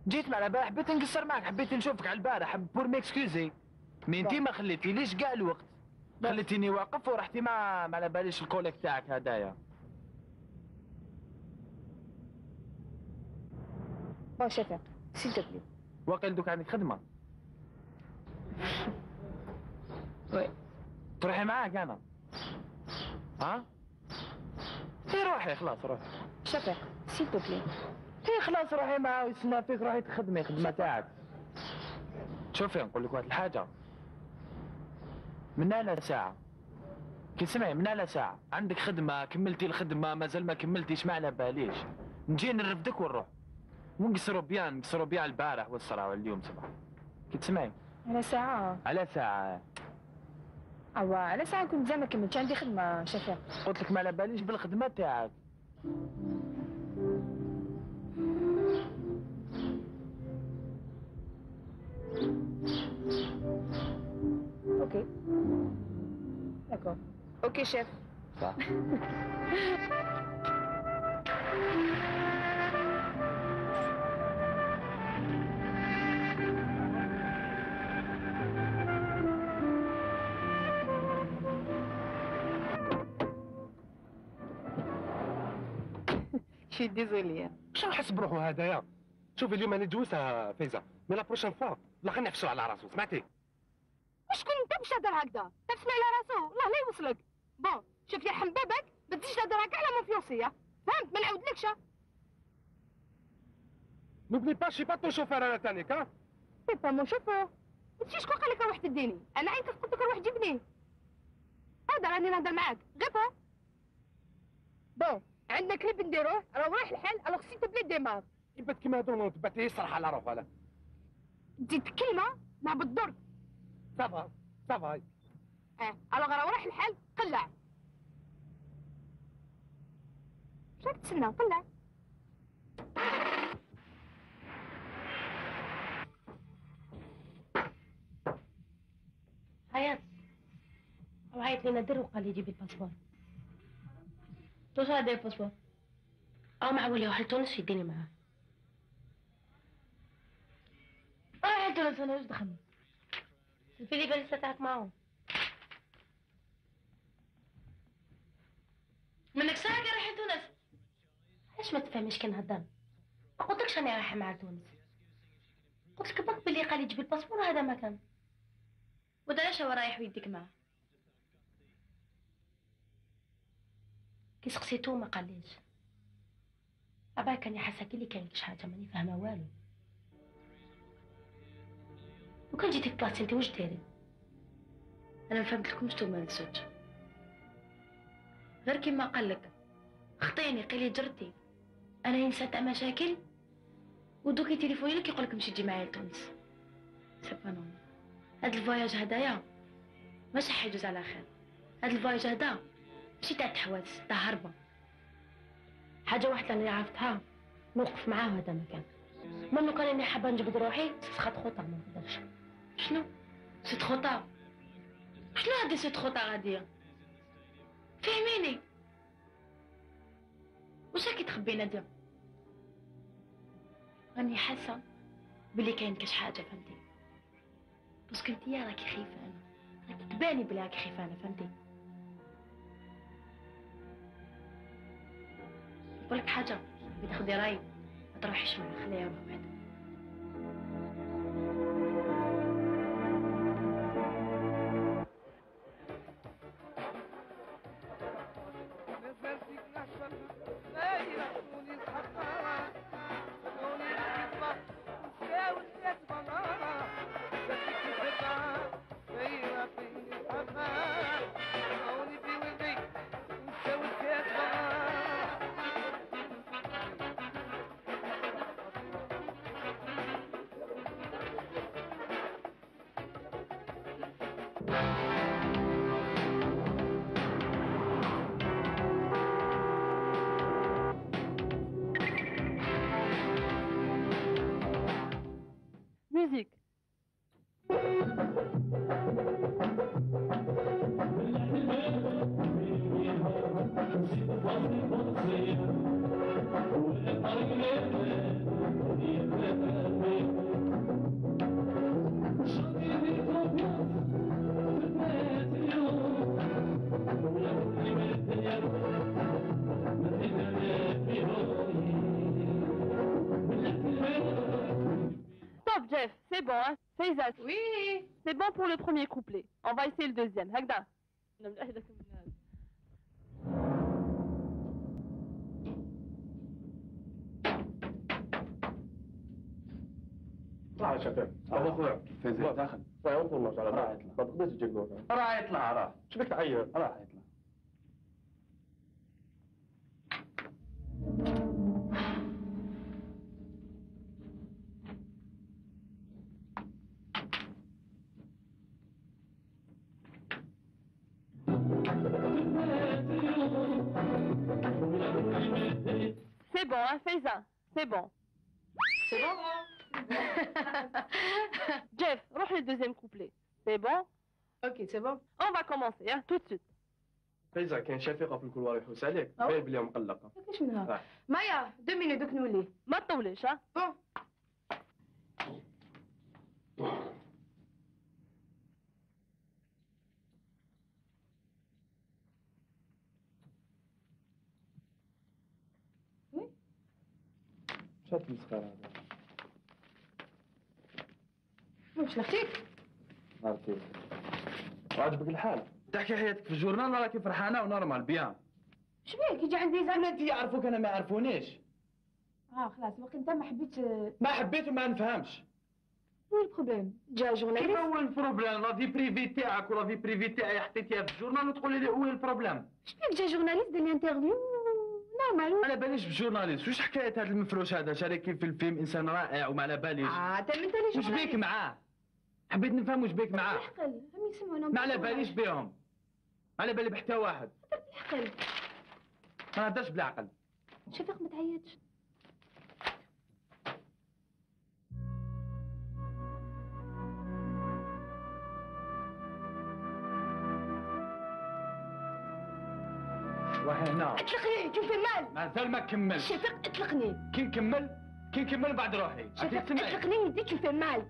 جيت مع البارح حبيت نقصر معك، حبيت نشوفك على البارح بور ميكسكوزي. مي انتي ما خليتيليش كاع الوقت. خليتيني واقف ورحتي ما على باليش الكوليك تاعك هدايا. بون شفيق سيل تو بلي. واقيل دوك عندك خدمة؟ وي. تروحي معاك انا؟ ها؟ روحي روحي خلاص روحي. شفيق سيل تو بلي. اي خلاص روحي معاه ويستنى فيك، روحي تخدمي خدمة تاعك. شوفي نقول لك واحد الحاجة، من على ساعة كي سمعي، من على ساعة عندك خدمة، كملتي الخدمة مازال ما كملتيش، ما على باليش، نجي نرفدك ونروح ونقصروا بيان البارح والصراحة اليوم صباح. كي تسمعي؟ على ساعة. على ساعة. أوا على ساعة كنت زعما كملت، عندي خدمة شفيق. قلت لك ما على باليش بالخدمة تاعك. اوكي داكور. اوكي شيف. صح. شي ديزولي. شنو نحس بروحو هذايا؟ شوفي اليوم انا جوزها فايزه، مي لا بروشين فوا لا خلينا نحبسو على راسو، سمعتي؟ شكون انت باش تهضر هكذا؟ تفسمي على راسو، الله لا يوصلك. بون شوف يا حمبابك ما تجيش تهضر هكا على مون فيونسيه، فهمت؟ ما نعاودلكش. نوبلي با شي با تو شوفير انا تانيك ها؟ سي با مون شوفور. ما تجيش شكون قال لك روح تديني؟ انا عينك قلت لك روح جيبني. هذا راني نهضر معاك، غير فو. بون عندنا كليب نديروه، راه رايح الحال، الوغ سي تو بلي ديمار. يبات كيما هادو تبات يصرح على روحه لا. تزيد كلمه مع بالدرك. صافا صافا. الوغ راه رايح الحال، قلع. واش راك تسنى؟ قلع. عيط وعيط لي نادر وقال لي جيبي الباسبور. واش هذا الباسبور؟ معول يروح لتونس يديني معاه. رايح لتونس انا واش دخلني؟ في لي باليسة تاعك معاهم. منك ساعة رايح لتونس. علاش ما تفهميش كي نهضر؟ ما قلتلكش راني رايحة مع تونس. قلت لك باك بلي قال لي جيبي الباسبور هذا ما كان. وداش هو رايح ويديك معاه. كي سقسيتو ما قاليش. أبا كان يحسك اللي كاين كاش حاجة ماني فاهمة والو. وكان جيتي في بلاصتي انتي واش دايري؟ أنا ما فهمتلكمش نتوما الزوج. غير كيما قالك خطيني قال لي جرتي. أنا إنسان تاع مشاكل ودوكي تليفوني لك يقولك مشي تجي معايا لتونس. سي با نورمال. هاد الفواياج هدايا ماشي حيجوز على خير. هاد الفواياج هدا ماشي تاع تحواس، تاع هربة. حاجة واحدة اللي عرفتها نوقف معاه هذا مكان. منو كان اني حابة نجبد روحي سخط خطا ما نقدرش. شنو؟ سيت خطا؟ شنو هادي سيت خطا غادية؟ فهميني. واش راكي تخبي نادية؟ راني حاسة بلي كاين كاش حاجة فهمتي؟ باسكو انتيا راكي خيفانة، راكي تباني بلي راكي خيفانة فهمتي؟ نقولك حاجة بتاخدي راي ما تروحيش معاه، خليها يروح وحده. Musique. Stop, Jeff, c'est bon, hein? Faisal. Oui. C'est bon pour le premier couplet. On va essayer le deuxième. هكذا. طلع يا شفيق. ابو خويا فايزة داخل. راه انت المرجع على راه يطلع. ما تقدرش تجيك دور. راه يطلع راه. شبيك تعير؟ راه يطلع. C'est bon, hein, Faiza, c'est bon. C'est bon? Jeff, roule le deuxième couplet. C'est bon? Ok, c'est bon. On va commencer, hein, tout de suite. فايزة كاين شفيقة في الكولوار يحوس عليك، باين بلي مقلقة. كيفاش منها؟ مايا 2 minutes دوك نولي. ما تطوليش، ها؟ بون. شات المسخرة هذا. واش لختيك؟ عرفتي. وعجبك الحال؟ تحكي حياتك في الجورنال راكي فرحانه ونورمال بيان. شبيك يجي عندي زعما انت يعرفوك انا ما يعرفونيش. خلاص وقت انت ما حبيتش. ما حبيت وما نفهمش. شنو البروبليم؟ جا جورناليست. كيف هو البروبليم؟ لا في بريفي تاعك ولا في بريفي تاعي حطيتيها في الجورنال وتقولي لي وين البروبليم؟ شبيك جا جورناليست دار لي انترفيو نورمال. على باليش بالجورناليست، واش حكايه هذا المفروش هذا شاركين في الفيلم انسان رائع وما على باليش. انت من تاني واش بيك معاه؟ حبيت نفهم واش بيك معاه. بالعقل هم يسمعونا. ما على باليش بيهم. ما على بالي بحتى واحد. بالعقل. ما نهضرش بالعقل. شفيق ما تعيطش. روحي هنا. اطلقني tu fais mal. مازال ما كملش. شفيق اطلقني. كي نكمل بعد روحي. شفيق اطلقني يديك tu fais mal.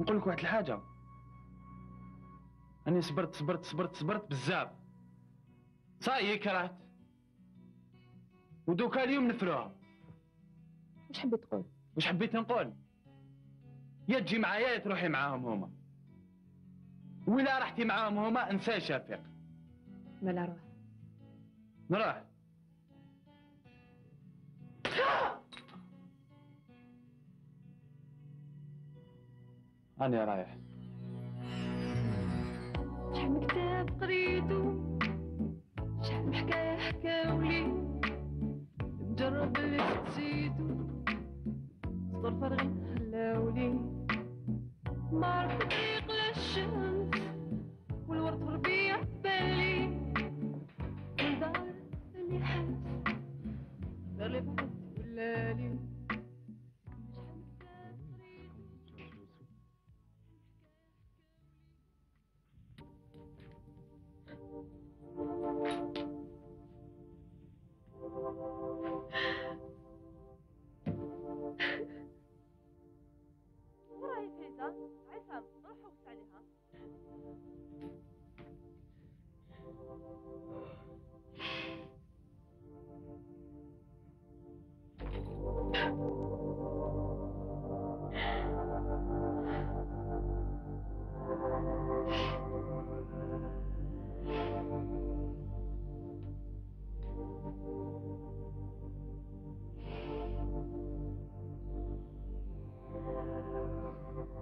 نقول لك واحد الحاجه. أنا صبرت بزاف. صاي كرهت. ودوكا اليوم نفروها. واش حبيت تقول؟ واش حبيت نقول؟ يا تجي معايا يا تروحي معاهم هما. ولا رحتي معاهم هما انسى شفيق. مالا روح. نروح. أنا رايح. شحال من كتاب قريتو شحال من حكاية حكاولي نجرب اللي تزيدو صدر فارغين خلاولي ما عرفت طريق للشمس والورد في الربيع بالي والدار اللي حاس دار اللي بعد ولالي وراهي فايزة، عصام، روح وقت عليها.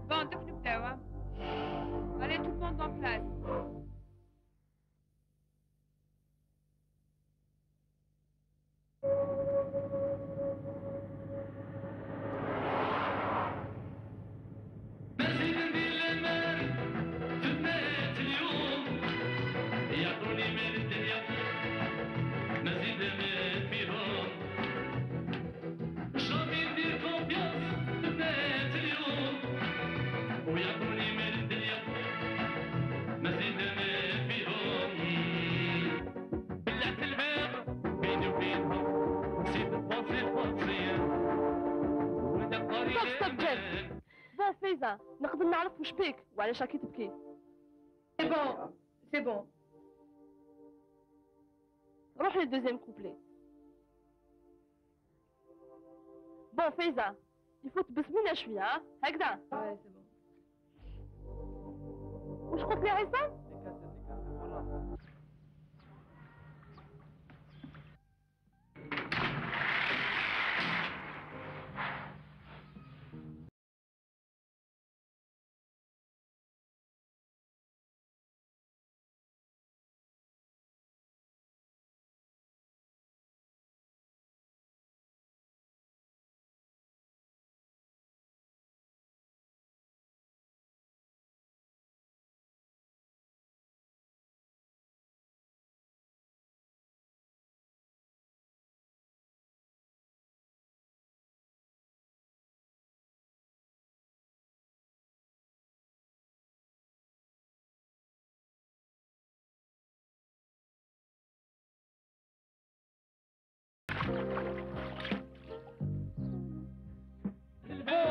Bon, donc nous plaît, allez tout le monde en place. ستوب جيف. بون فايزة، نقدر نعرف وش بيك وعلاش راكي تبكي؟ سي بون سي بون. روح للدوزيام كوبلي. بون فايزة، يفو تبسمينا شوية، ها؟ هكذا. سي بون. وش قلت لي عصام؟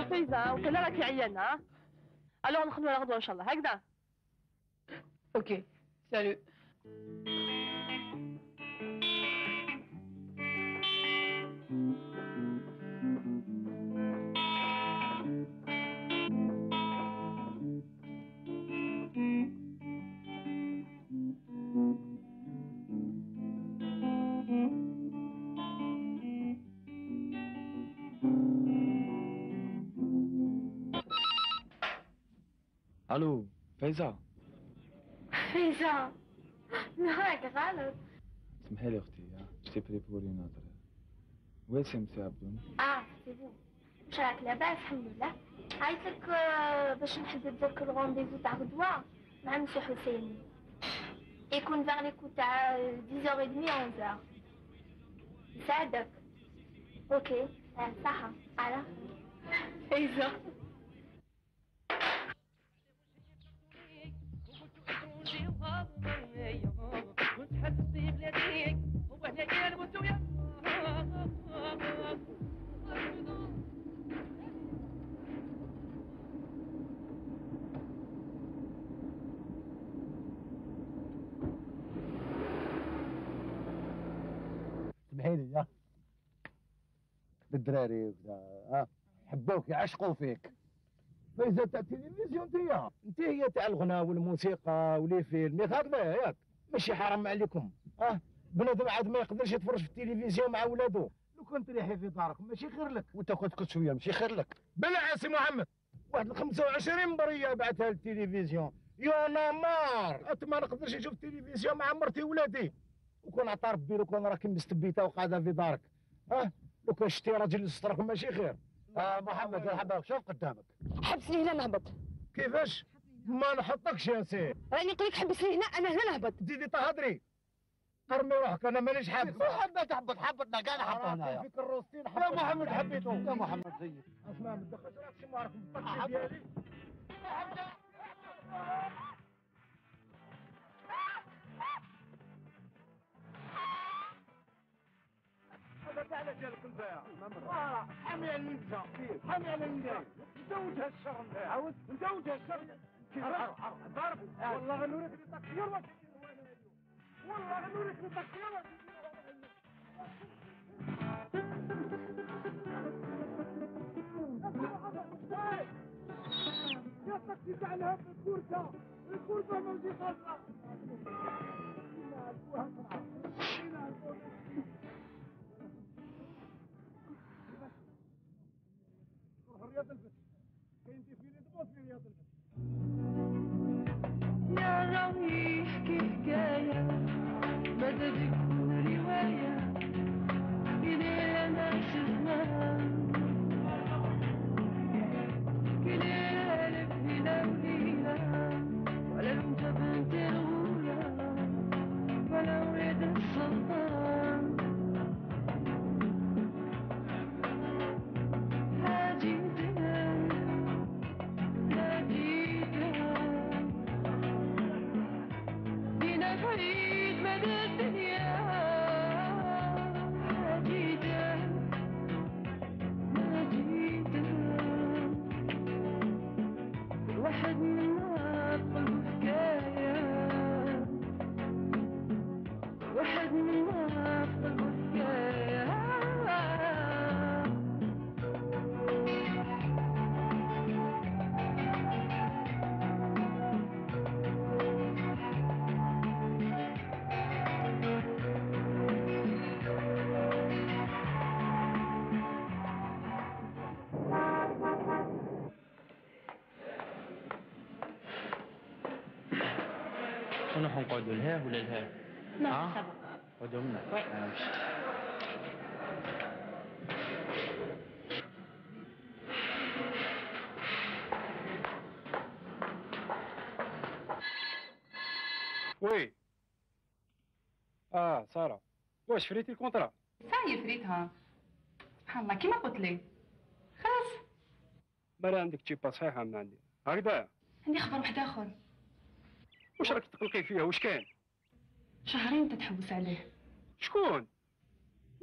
فايزة وكان راكي عيانة. الوغ نخدمو على غدوة ان شاء الله هكذا. اوكي سالو. الو فايزة. فايزة نهارك غلط. اسمحي لي اختي جيتي بري بور اون اوتر. وين سي عبدون؟ سي بون. واش راك لاباس؟ الحمد لله. عيطلك باش نحدد لك الرونديفو تاع غدوة مع مسيو حسيني. يكون فيغ لي كو تاع 10h30 11h. يساعدك. اوكي صحة على فايزة. سمحي لي يا الدراري وكذا حبوك يعشقوا فيك. فايزة تاع التلفزيون انت هي تاع الغناء والموسيقى ولي فيلم هكذا ياك ماشي حرام عليكم. بنادم عاد ما يقدرش يتفرج في التلفزيون مع ولادو. لو كنت ريحي في دارك ماشي خير لك وانت كنت شويه ماشي خير لك. بلا سي محمد واحد 25 بريه بعثها للتلفزيون يا نمار ما نقدرش نشوف التلفزيون مع مرتي وولادي. وكون عطا ربي لو كان راكي مستبيته وقاعده في دارك لو كان شتي راجل يسترك ماشي خير. محمد يا شوف قدامك. حبسني هنا نهبط. كيفاش؟ ما نحطكش يا سي. راني نقول لك حبسني هنا انا هنا نهبط. تزيدي تهضري. قرمي روحك انا مانيش حابس. محمد حبطنا كاع نحطه هنايا. فيك الروستين يا محمد حبيته. يا محمد زيد. اسمع ما تدخلش راكش معرك بالطقس ديالي. هذا كاع على جالك البيع. حامي على النساء. حامي على النساء. نزوجها الشر نتاعها. عاود نزوجها الشر. كيفاش؟ ضرب. والله غنوريك التقصير واش والله غنوريك التقصير واش يا تاكسي تاع الهب الكورسه ماشي خاصها. رياض الفتح كاين ديفيلي دبوس في رياض الفتح. يا راوي يحكي حكاية ماذا تكون رواية إذا ما شفناها كليلة ألف ليلة وليلة ولا انت بنت الغولة ولا ولد السلطان فريد مدى الدنيا حديدة مديدة الواحد منا بقلبه حكاية الواحد منا بقلبه حكاية شنو حنقعدوا لها ولا لها؟ لا سبق. قعدوا منا. وي سارة واش فريتي الكونترا؟ صاي فريتها سبحان الله كيما قلت لي خلاص. بلا عندك تشيبا صحيحة من عندي هكذا. عندي خبر واحد اخر. واش راك تقلقي فيها واش كان؟ شهرين تتحوس عليه. شكون؟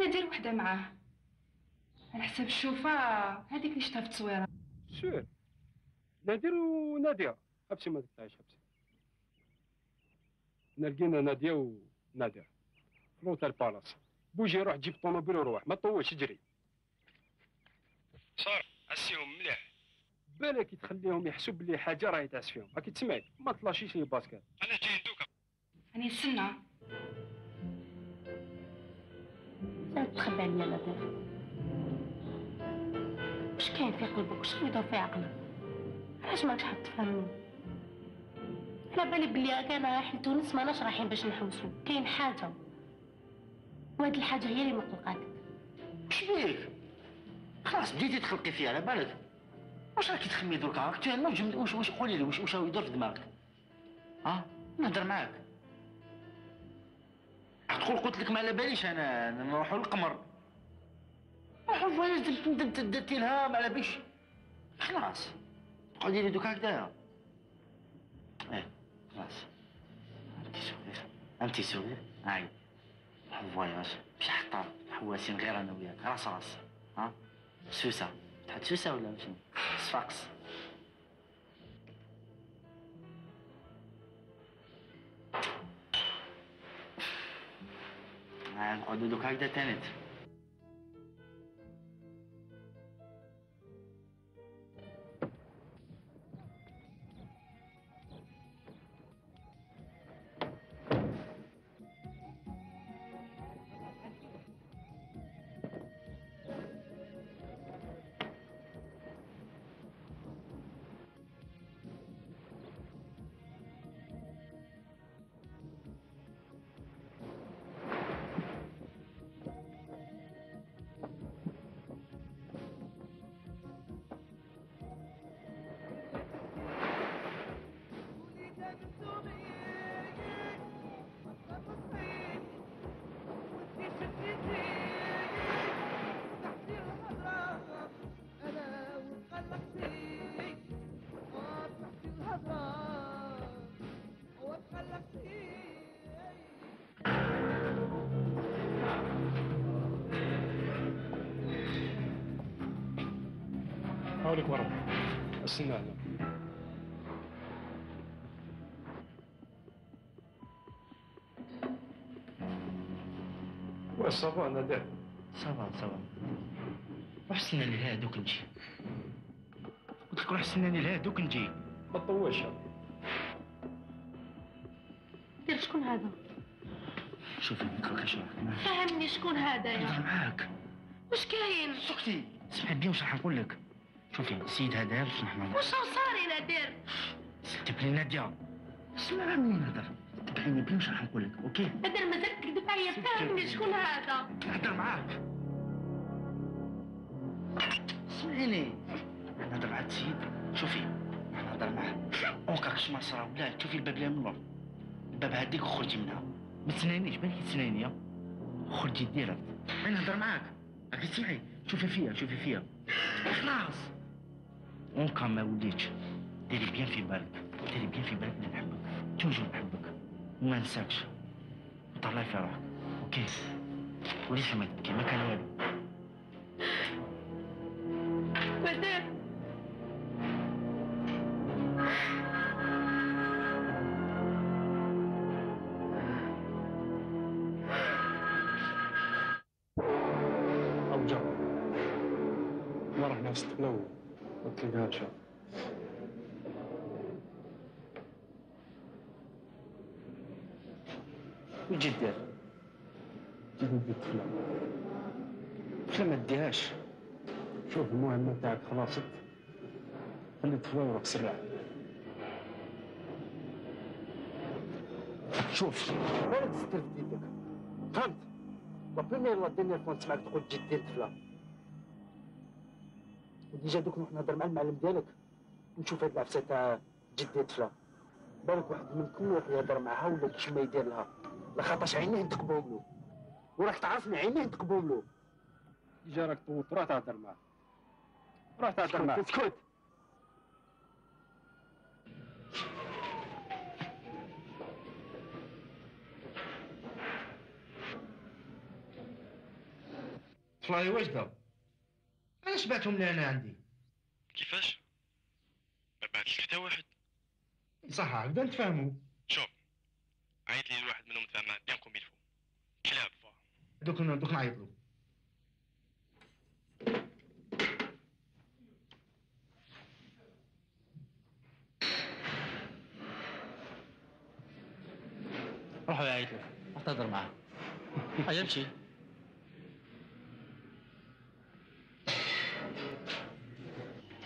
ندير وحده معاه على حساب الشوفة هذيك اللي شفتها في التصويرة. سور نادر وناديه. حبسي ما تقطعيش حبسي. لقينا ناديه ونادر في لوطيل بالاس. بوجي روح جيب طوموبيل وروح ما تطولش اجري. صار عسيهم مليح. بالك تخليهم يحسوا بلي حاجه راهي تعس فيهم. راكي تسمعي ما تلاشيش لي باسكات. انا جاي دوكا. راني نستنى. لا تخبي عليا نادر. واش كاين في قلبك؟ واش يدور في عقلك؟ علاش ماكش حاب تفهمني؟ على بالي بلي انا رايحين تونس ماناش رايحين باش نحوسو، كاين حاجه وهاد الحاجه هي اللي مقلقاتك. واش بيك؟ خلاص بديتي تخلقي فيها على بالك. واش راكي تخمي دركا؟ راك تنوجم. واش قولي لي واش راه يدور في دماغك؟ نهضر معاك. تقول قلت لك ما على باليش انا نروحوا للقمر. نروحوا فواياج درتي لها ما على باليش. خلاص قعدي لي دوكا هكذايا. خلاص انتي صغير هاي فواياج مش حطار حواسين غير انا وياك راس سوسه تحط سوسه ولا شنو؟ صفاقس. نقعدو دوك هكذا تانيت. هاوليك ورا استنى هنا. واش صافا نادر؟ صافا روح استناني لها دوك نجي. قلت لك روح استناني لها دوك نجي. ما تطولش. دير شكون هذا؟ شوفي نتركي شويه. فهمني شكون هذا نهضر يا؟ معاك. واش كاين؟ سكتي سمعي بيا واش راح نقول لك. شوفي السيد هذا باش نحنا. واش صار يا نادر؟ تبعي ناديه. اسمع مني نهضر. تبعيني بيا واش راح نقول لك اوكي؟ نادر مازال تكذب عليا. فهمني شكون هذا؟ نهضر معاك. اسمعيني نهضر مع السيد. شوفي نهضر معاه اونكاكش ما صرا ولا تشوفي الباب اللي من اللور. الباب هديك وخرجي منها. ما تسنانيش بالك تسناني. خرجي ديريكت. انا نهضر معاك. راكي تسمعي. شوفي فيا خلاص. اونكا ما وليتش. ديري بيان في بالك اني نحبك. توجور نحبك وما نساكش. طلعي في روحك اوكي؟ وليش ما تبكي ما كان والو. نادر أرجع ما رحنا نستقلو ما تلقاهاش. وش دير؟ جيب ندي الطفلة. الطفلة ما تديهاش. شوف المهمة تاعك خلاصت. خلي الطفلة وروح سرع. شوف مالك تستر في يدك فهمت؟ وبريمير لا دينيير فوا نسمعك تقول تجي دير طفله. وديجا دوك نروح نهضر مع المعلم ديالك ونشوف هاد العفسه تاع تجي دير طفله. بالك واحد منكم يروح يهضر معها ولا كيش ما يدير لها، لخاطرش عينيه نتقبهم له وراك تعرفني عينيه نتقبهم له. ديجا راك طوط روح تهضر معاه. روح تهضر معاه. اسكت. طفلاي واجده. علاش بعتهم لي انا عندي؟ كيفاش؟ حتى واحد. صح هكذا نتفاهموا. شوف عيط لي الواحد منهم نتفاهم معاه بيان كوم يلفو. كلاب دوك نعيط له. روحوا عيط له، روح تهضر معاه. هيا امشي.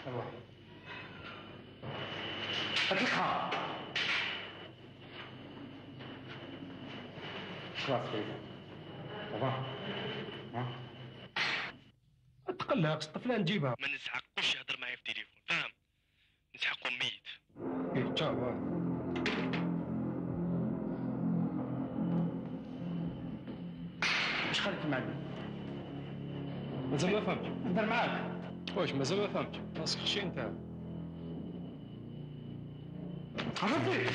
روح. اطلقها. خلاص كده. ما تقلقش الطفله نجيبها. ما نسحقوش يهضر معايا في التليفون فاهم؟ نسحقو ميت. ايه تشاو. واش خليك المعلم؟ مازال ما فهمتش. نهضر معاك. واش مازال ما فهمتش؟ راسك خشي انت. عرفتي؟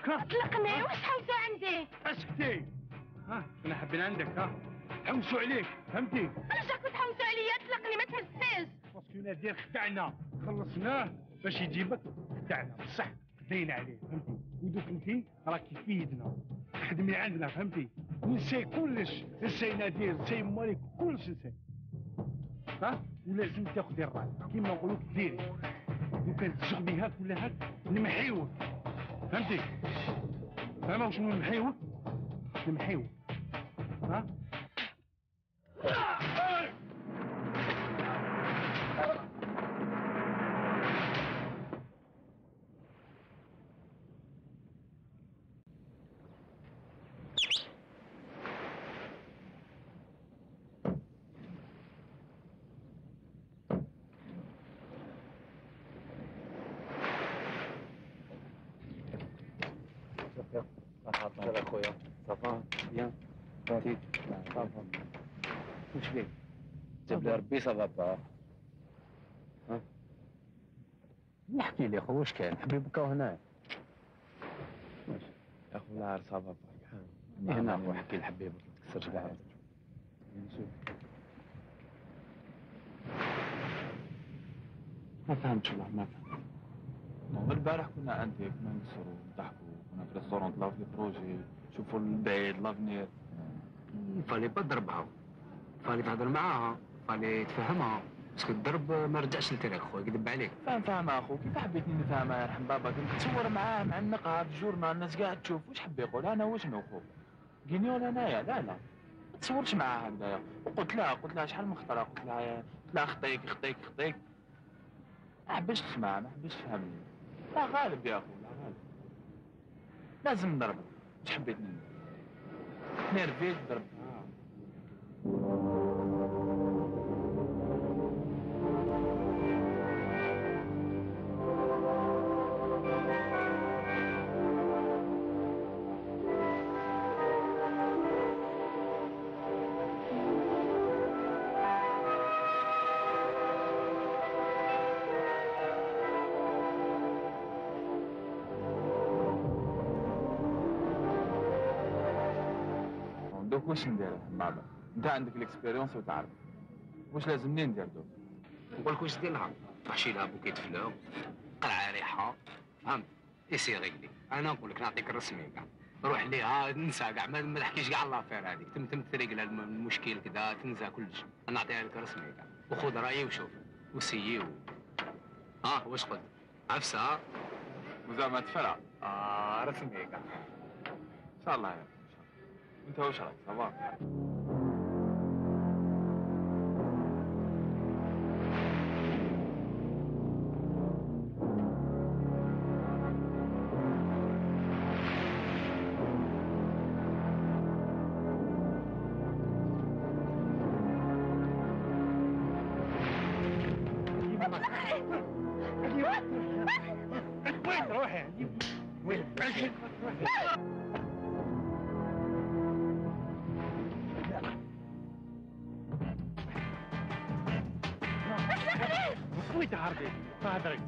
اطلقني واش حوسوا عندي؟ اسكتي. ها انا حابين عندك ها حوسوا عليك فهمتي؟ علاش راكم تحوسوا عليا؟ اطلقني ما تهزنيش. باسكو نادر خدعنا خلصناه باش يجيبك خدعنا بصح خدينا عليه فهمتي؟ ودوك انتي راكي في يدنا خدمي عندنا فهمتي؟ نسي كلش نسي نادير نسي مالك كلش نسي ها ولازم تاخدي الراي كيما نقولوك ديري دوكا تشغلي هاك ولا هاك نمحيوك فهمتي؟ فاهمة شنو نمحيوك؟ نمحيوك ها؟ هذا خويا صافا بيان فاتيك صافا واش بيك جاب لي ربي صافا با ها نحكي لي خو واش كاين حبيبك بكاو هنا واش يا خو لا صافا با هنا خو حكي لحبيبك ما تكسرش كاع نشوف ما فهمتش والله ما فهمت البارح كنا عندك كنا نكسروا نضحكوا كنا في ريستورون طلعوا في بروجي شوفوا البعيد لافنير فالي با تضربها فالي تهضر معاها فالي تفهمها باسكو الضرب ما رجعش لتريك خويا كذب عليك فاهم اخو كيف حبيتني نفهمها يرحم باباك انت تصور معاه معنقها في الجورنال الناس قاعد تشوف واش حب يقول انا وشنو خو قينيول انايا لا ما تصورش معاه هكذايا وقلت لها شحال من خطره قلت لها خطيك ما حبيتش تسمع ما حبيتش تفهمني لا غالب يا اخو لا غالب لازم نضربك واش حبيتني نرفيت ضرب دوك واش ندير مع بعض؟ انت عندك الاكسبيريونس وتعرف واش لازمني ندير دوك. نقول لك واش دير لها، تحشي لها بوكيت فلو، قرعه ريحه، فهمت؟ ايسي ريغلي. انا نقول لك نعطيك الرسمي كاع، روح ليها نسى كاع ما تحكيش كاع لافير هذيك، تم تريقل المشكل كذا تنسى كلش، نعطيها لك رسمي كاع، وخذ رايي وشوف وسيي واش قلت؟ عفسه وزعما تفرع. رسمي كاع. ان شاء الله يا ان شاء الله. انت واش راك صافا؟ وين تروحي؟ وين؟ وين تهربي؟ هضري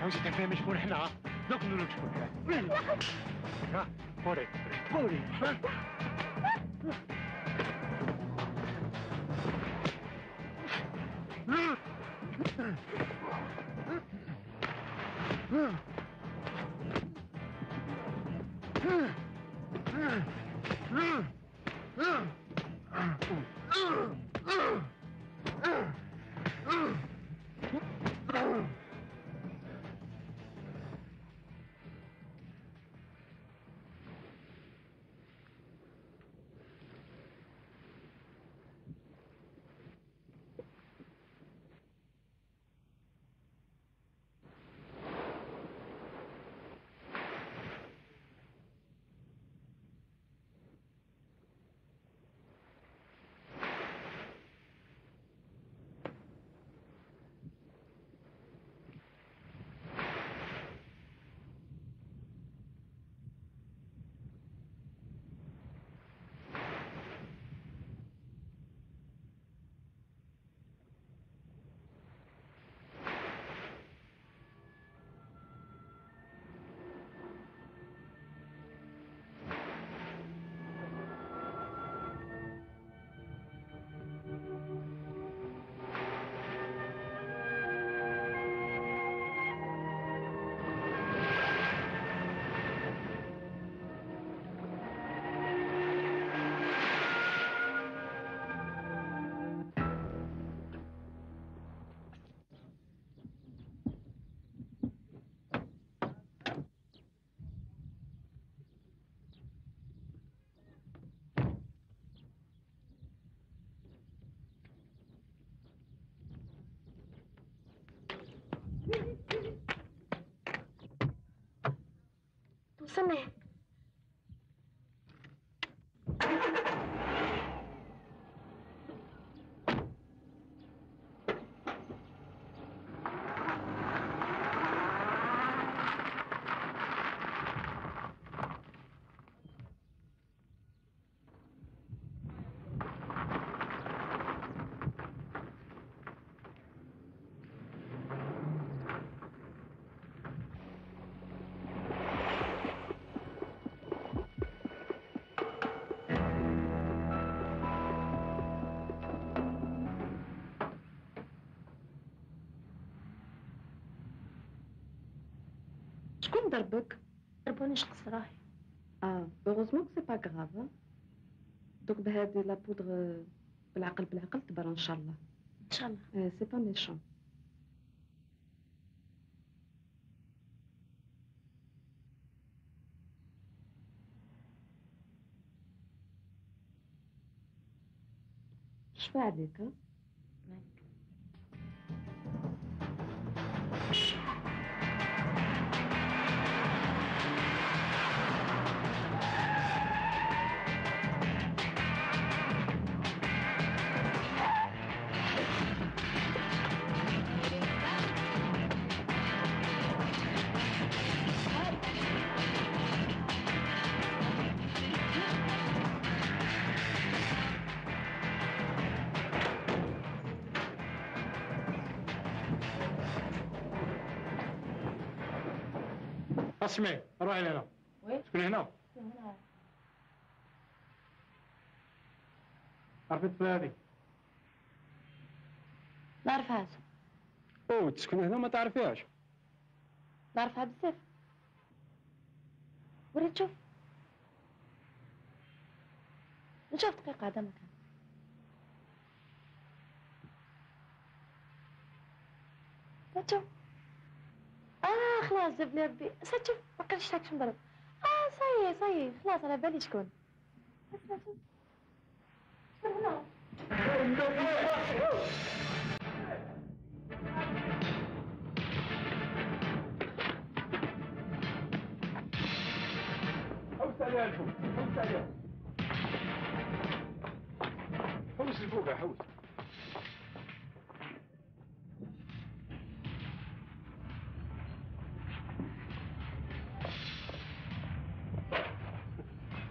عاوزي تفهمي شكون حنا؟ دوك نقول لك شكون حنا. قولي قولي. وصلنا. شكون ضربك؟ ضربوني شخص راهي. هوغوزمون كو سي با غراف. دوك بهادي لا بودغ بالعقل تبرى ان شاء الله. ان شاء الله. سي با ميشون. شفا عليك؟ اسمعي روحي لهنا. وين؟ شكون هنا؟ هنا. عرفت الطفلة هذه؟ نعرفهاش. اوه تسكن هنا ما تعرفيهاش؟ نعرفها بزاف. وريت تشوف. نشوف دقيقة هذا مكان. ستشوف. خلاص جاب لي ربي. ستشوف ما كانش هاك نضرب. صايي خلاص على بالي شكون. شوف هنا. حوس عليها الفوق، حوس عليها. حوس الفوق يا حوس.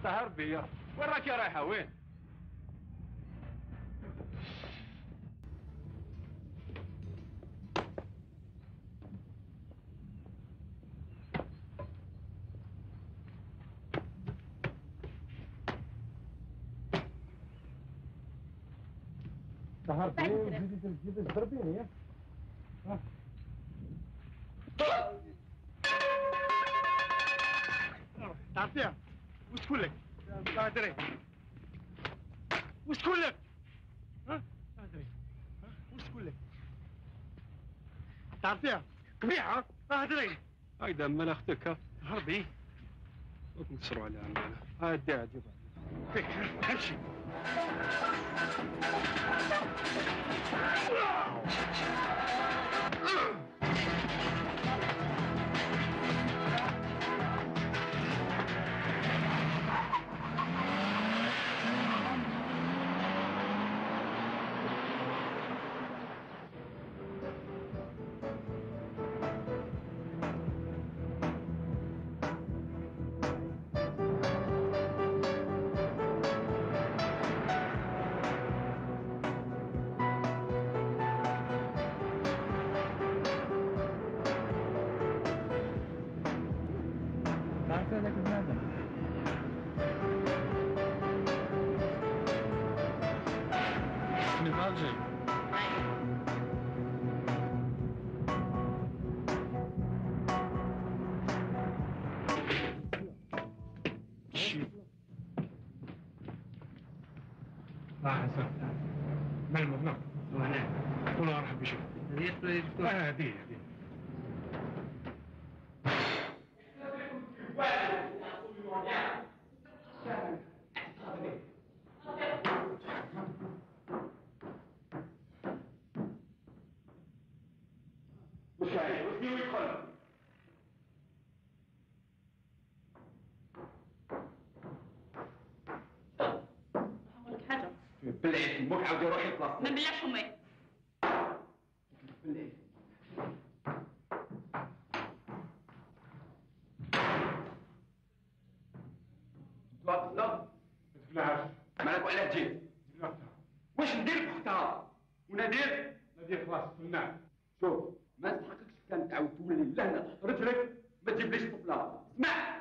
تهرب بيا، وين راكي رايحة وين؟ تهرب بيا وزيدي تضربيني يا؟ تعرفيها؟ وش تقول لك؟ لا ادري. وش تقول لك؟ ها؟ لا ادري. وش تقول لك؟ تعرفيها؟ قبيحة؟ لا ادري. هايدا من اختك ها؟ هربي. وكم تسروا عليها عمالة. اديها جيبها. فيك امشي. تعرف هذاك بنادم؟ من الجي. لا حسن ما المبنى وهنا والله ارحب بشوف هذه بلعي فمك عاودي روحي بلاصتك. ما نبلعش فمي. بلعي. لا ما تبلعهاش. مالك وعلاه جيت؟ واش ندير بأختها؟ وندير؟ ندير خلاص فنان. شوف ما نستحقكش كان تعاود تولي لهنا رجلك ما تجيبليش طفله. اسمع.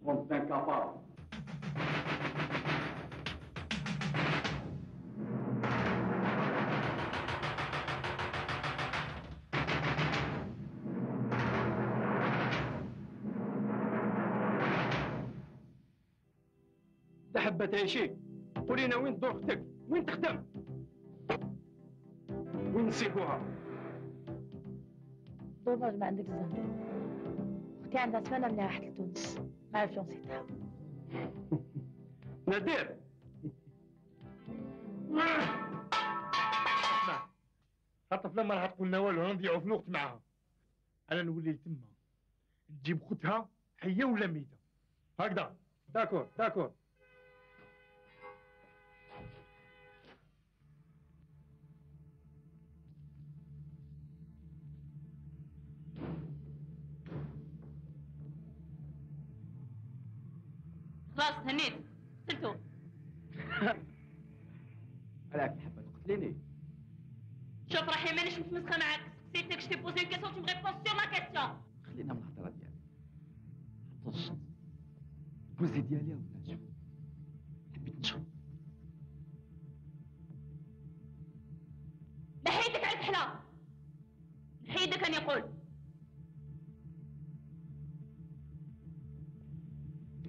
كنت انكابابل. إذا حبة تعيشي قولي لنا وين تدور اختك؟ وين تخدم؟ وين نسيقوها؟ دوماج ما عندك الزهر. اختي عندها سنة من راحت لتونس. ما عرفتش نسيتها. نادر. اسمع الطفلة ما راح تقول لنا والو نضيعوا في الوقت معاها. أنا نولي تما تجيب خوتها حية ولا ميتة. هكذا. داكور داكور. خلاص هنيت قتلتو. علاك حبة تقتليني؟ شوف راحي مانيش متمسخة معاك. سيتك جو تي بوزي اون كيسيون تو مي ريبونس سور لا كيسيون. خلينا من الهضرة ديالك. عطش. بوزي ديالي ولا شوف حبيت نشرب. نحيدك على الكحله، نحيدك أن يقول.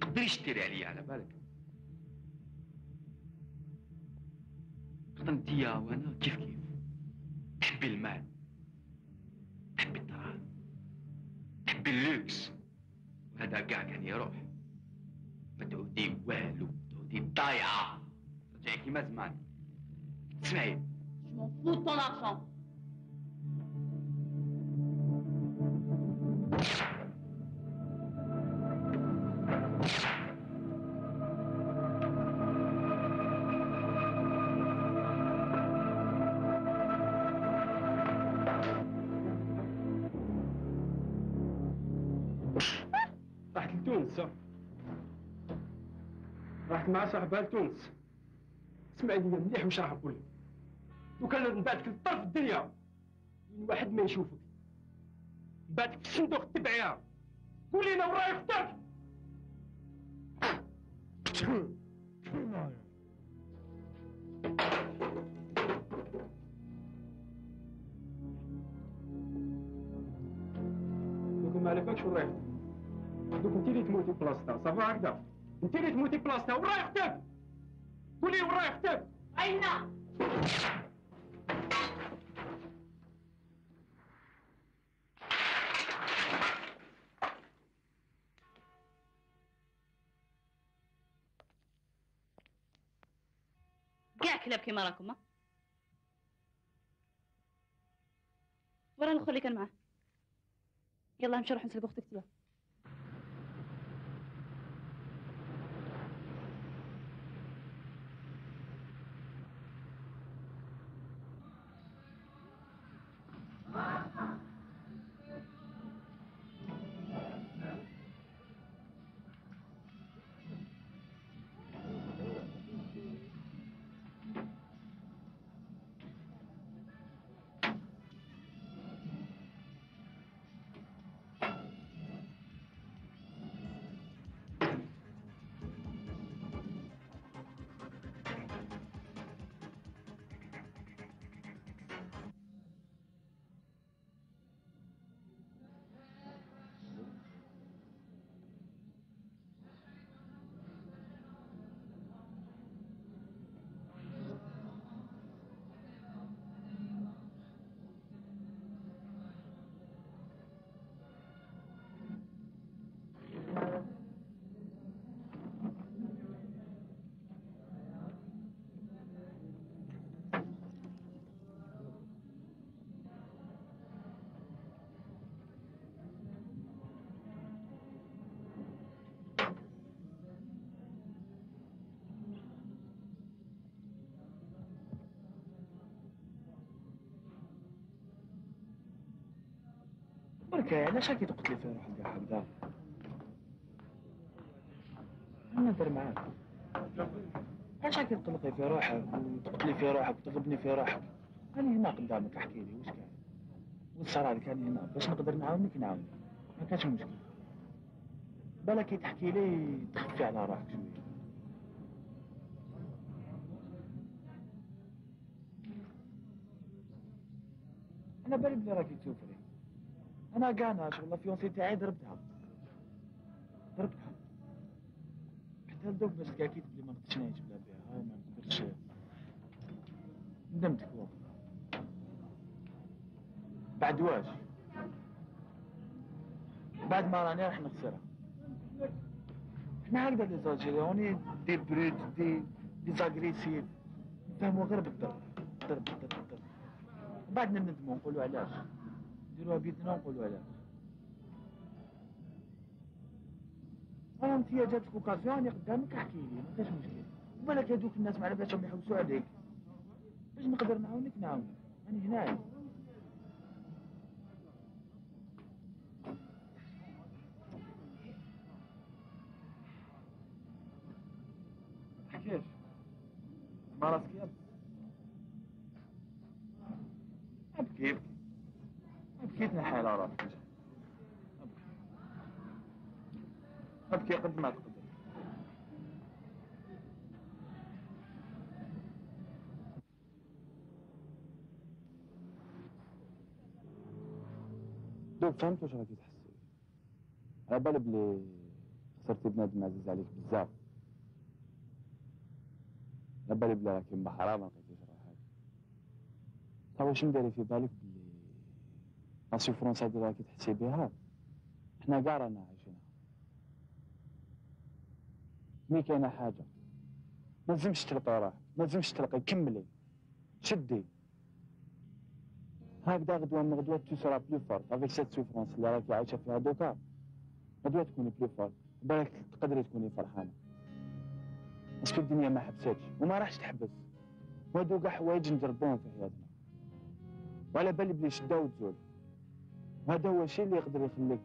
تقدريش ديري عليا على بالك. انتيا وانا كيف كيف. تحبي المال، تحبي الدراهم، تحبي اللوكس، وهذا كاع كان يروح. ما تعودي والو، تعودي ضايعه، رجعي كيما زمان. اسمعي، Je m'en fous de ton argent. راحت لتونس، راحت مع صاحبها لتونس. اسمعي لي مليح واش راح نقول لك. لو كان نبعتك لطرف الدنيا وين واحد ما يشوفك، نبعتك في صندوق التبعيه، قولي لنا وراي اختك. دوك ما على بالكش وراي اختك. دوك انت اللي تموتي بلاصتها، صافا هكذا. انت اللي تموتي بلاصتها وراي اختك. قولي وراي اختك. أين؟ كاع كلاب كيما راكم. ورا الاخر اللي كان معاه. يلا نمشي نروح نسلق اختك تيا. برك علاش راكي تقتلي في روحك كاع هكذا؟ انا ندير معاك. علاش راكي تقلقي في روحك وتقتلي في روحك وتغبني في روحك؟ أنا هنا قدامك، احكي لي واش كان؟ والصراحة كان هنا باش نقدر نعاونك نعاونك، ما كانش مشكل. بالك كي تحكي لي تخفي على روحك شوية. أنا بالي بلي راكي تسوفري. أنا كاع أنا شغل الفيونسي تاعي ضربتها. حتى لدوك باش تأكيد بلي ما نقدرش نعيش بلا بها، ما نقدرش. ندمتك والله. بعد واش؟ بعد ما راني راح نخسرها. احنا هكذا لي زالجيريوني دي بروت دي زاغريسيف، نفهموا غير بالضرب ضرب ضرب ضرب. وبعدنا ندموا نقولوا علاش، نديروها بيدنا ونقولوا علاش. انا انت جاتك اوكازيون راني قدامك، احكي لي ما كاش مشكل. وبالك هذوك الناس ما على بالهم يحوسوا عليك، باش نقدر نعاونك نعاونك، راني هنايا. كيف؟ ما راسك يابس؟ ابكي ابكي ابكي تنحي على راسك. ابكي قد ما تقدر. دوك فهمت واش راكي تحسي. على بالي بلي خسرتي بنادم عزيز عليك بزاف. على بالي بلي راكي مبحرة ما لقيتيش روحك. تا واش مداري في بالك بلي لا سوفرونس هادي راكي تحسي بها حنا كاع رانا عايشينها. مي كاينه حاجه ما لازمش تلقي روحك، ما لازمش تلقي، كملي شدي هكذا غدوه من غدوه تو سورا بلو فورت افيك سيت سوفرونس اللي راكي عايشه فيها دوكا. غدوه تكوني بلو فورت بالك تقدري تكوني فرحانه باسكو الدنيا ما حبساتش وما راحش تحبس، وهادو كاع حوايج نجربوهم في حياتنا وعلى بالي بلي شده وتزول. وهذا هو الشيء اللي يقدر يخليك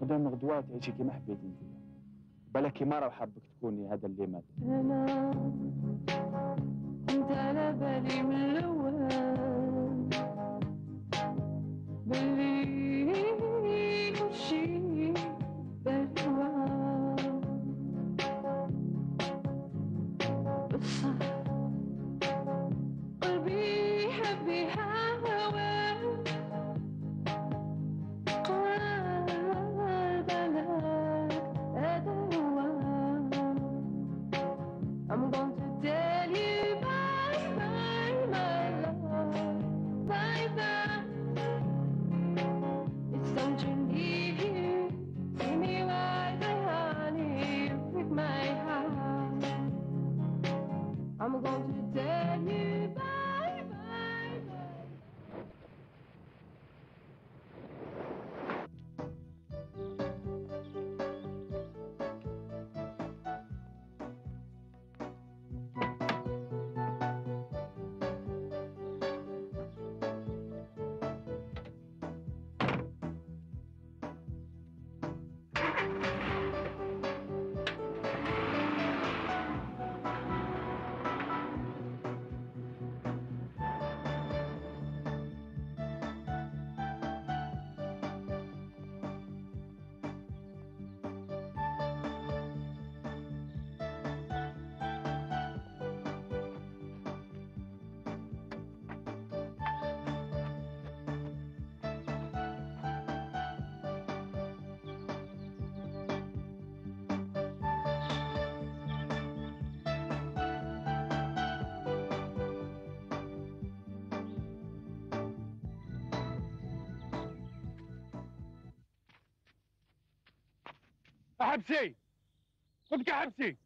غدوه من غدوه تعيشي كيما حبيتي انتيا. بالك كيما راه حابك تكوني هذا اللي مات. أنا كنت على بالي من الأول بلي كلشي بالهوى، بصح قلبي حب يهوى قال بلاك هذا هو. I'm going to tell you bye bye my love, bye bye. It's time to leave you. See me right there, honey, with my heart. I'm going to tell you bye bye bye. احبسي قلت لك احبسي.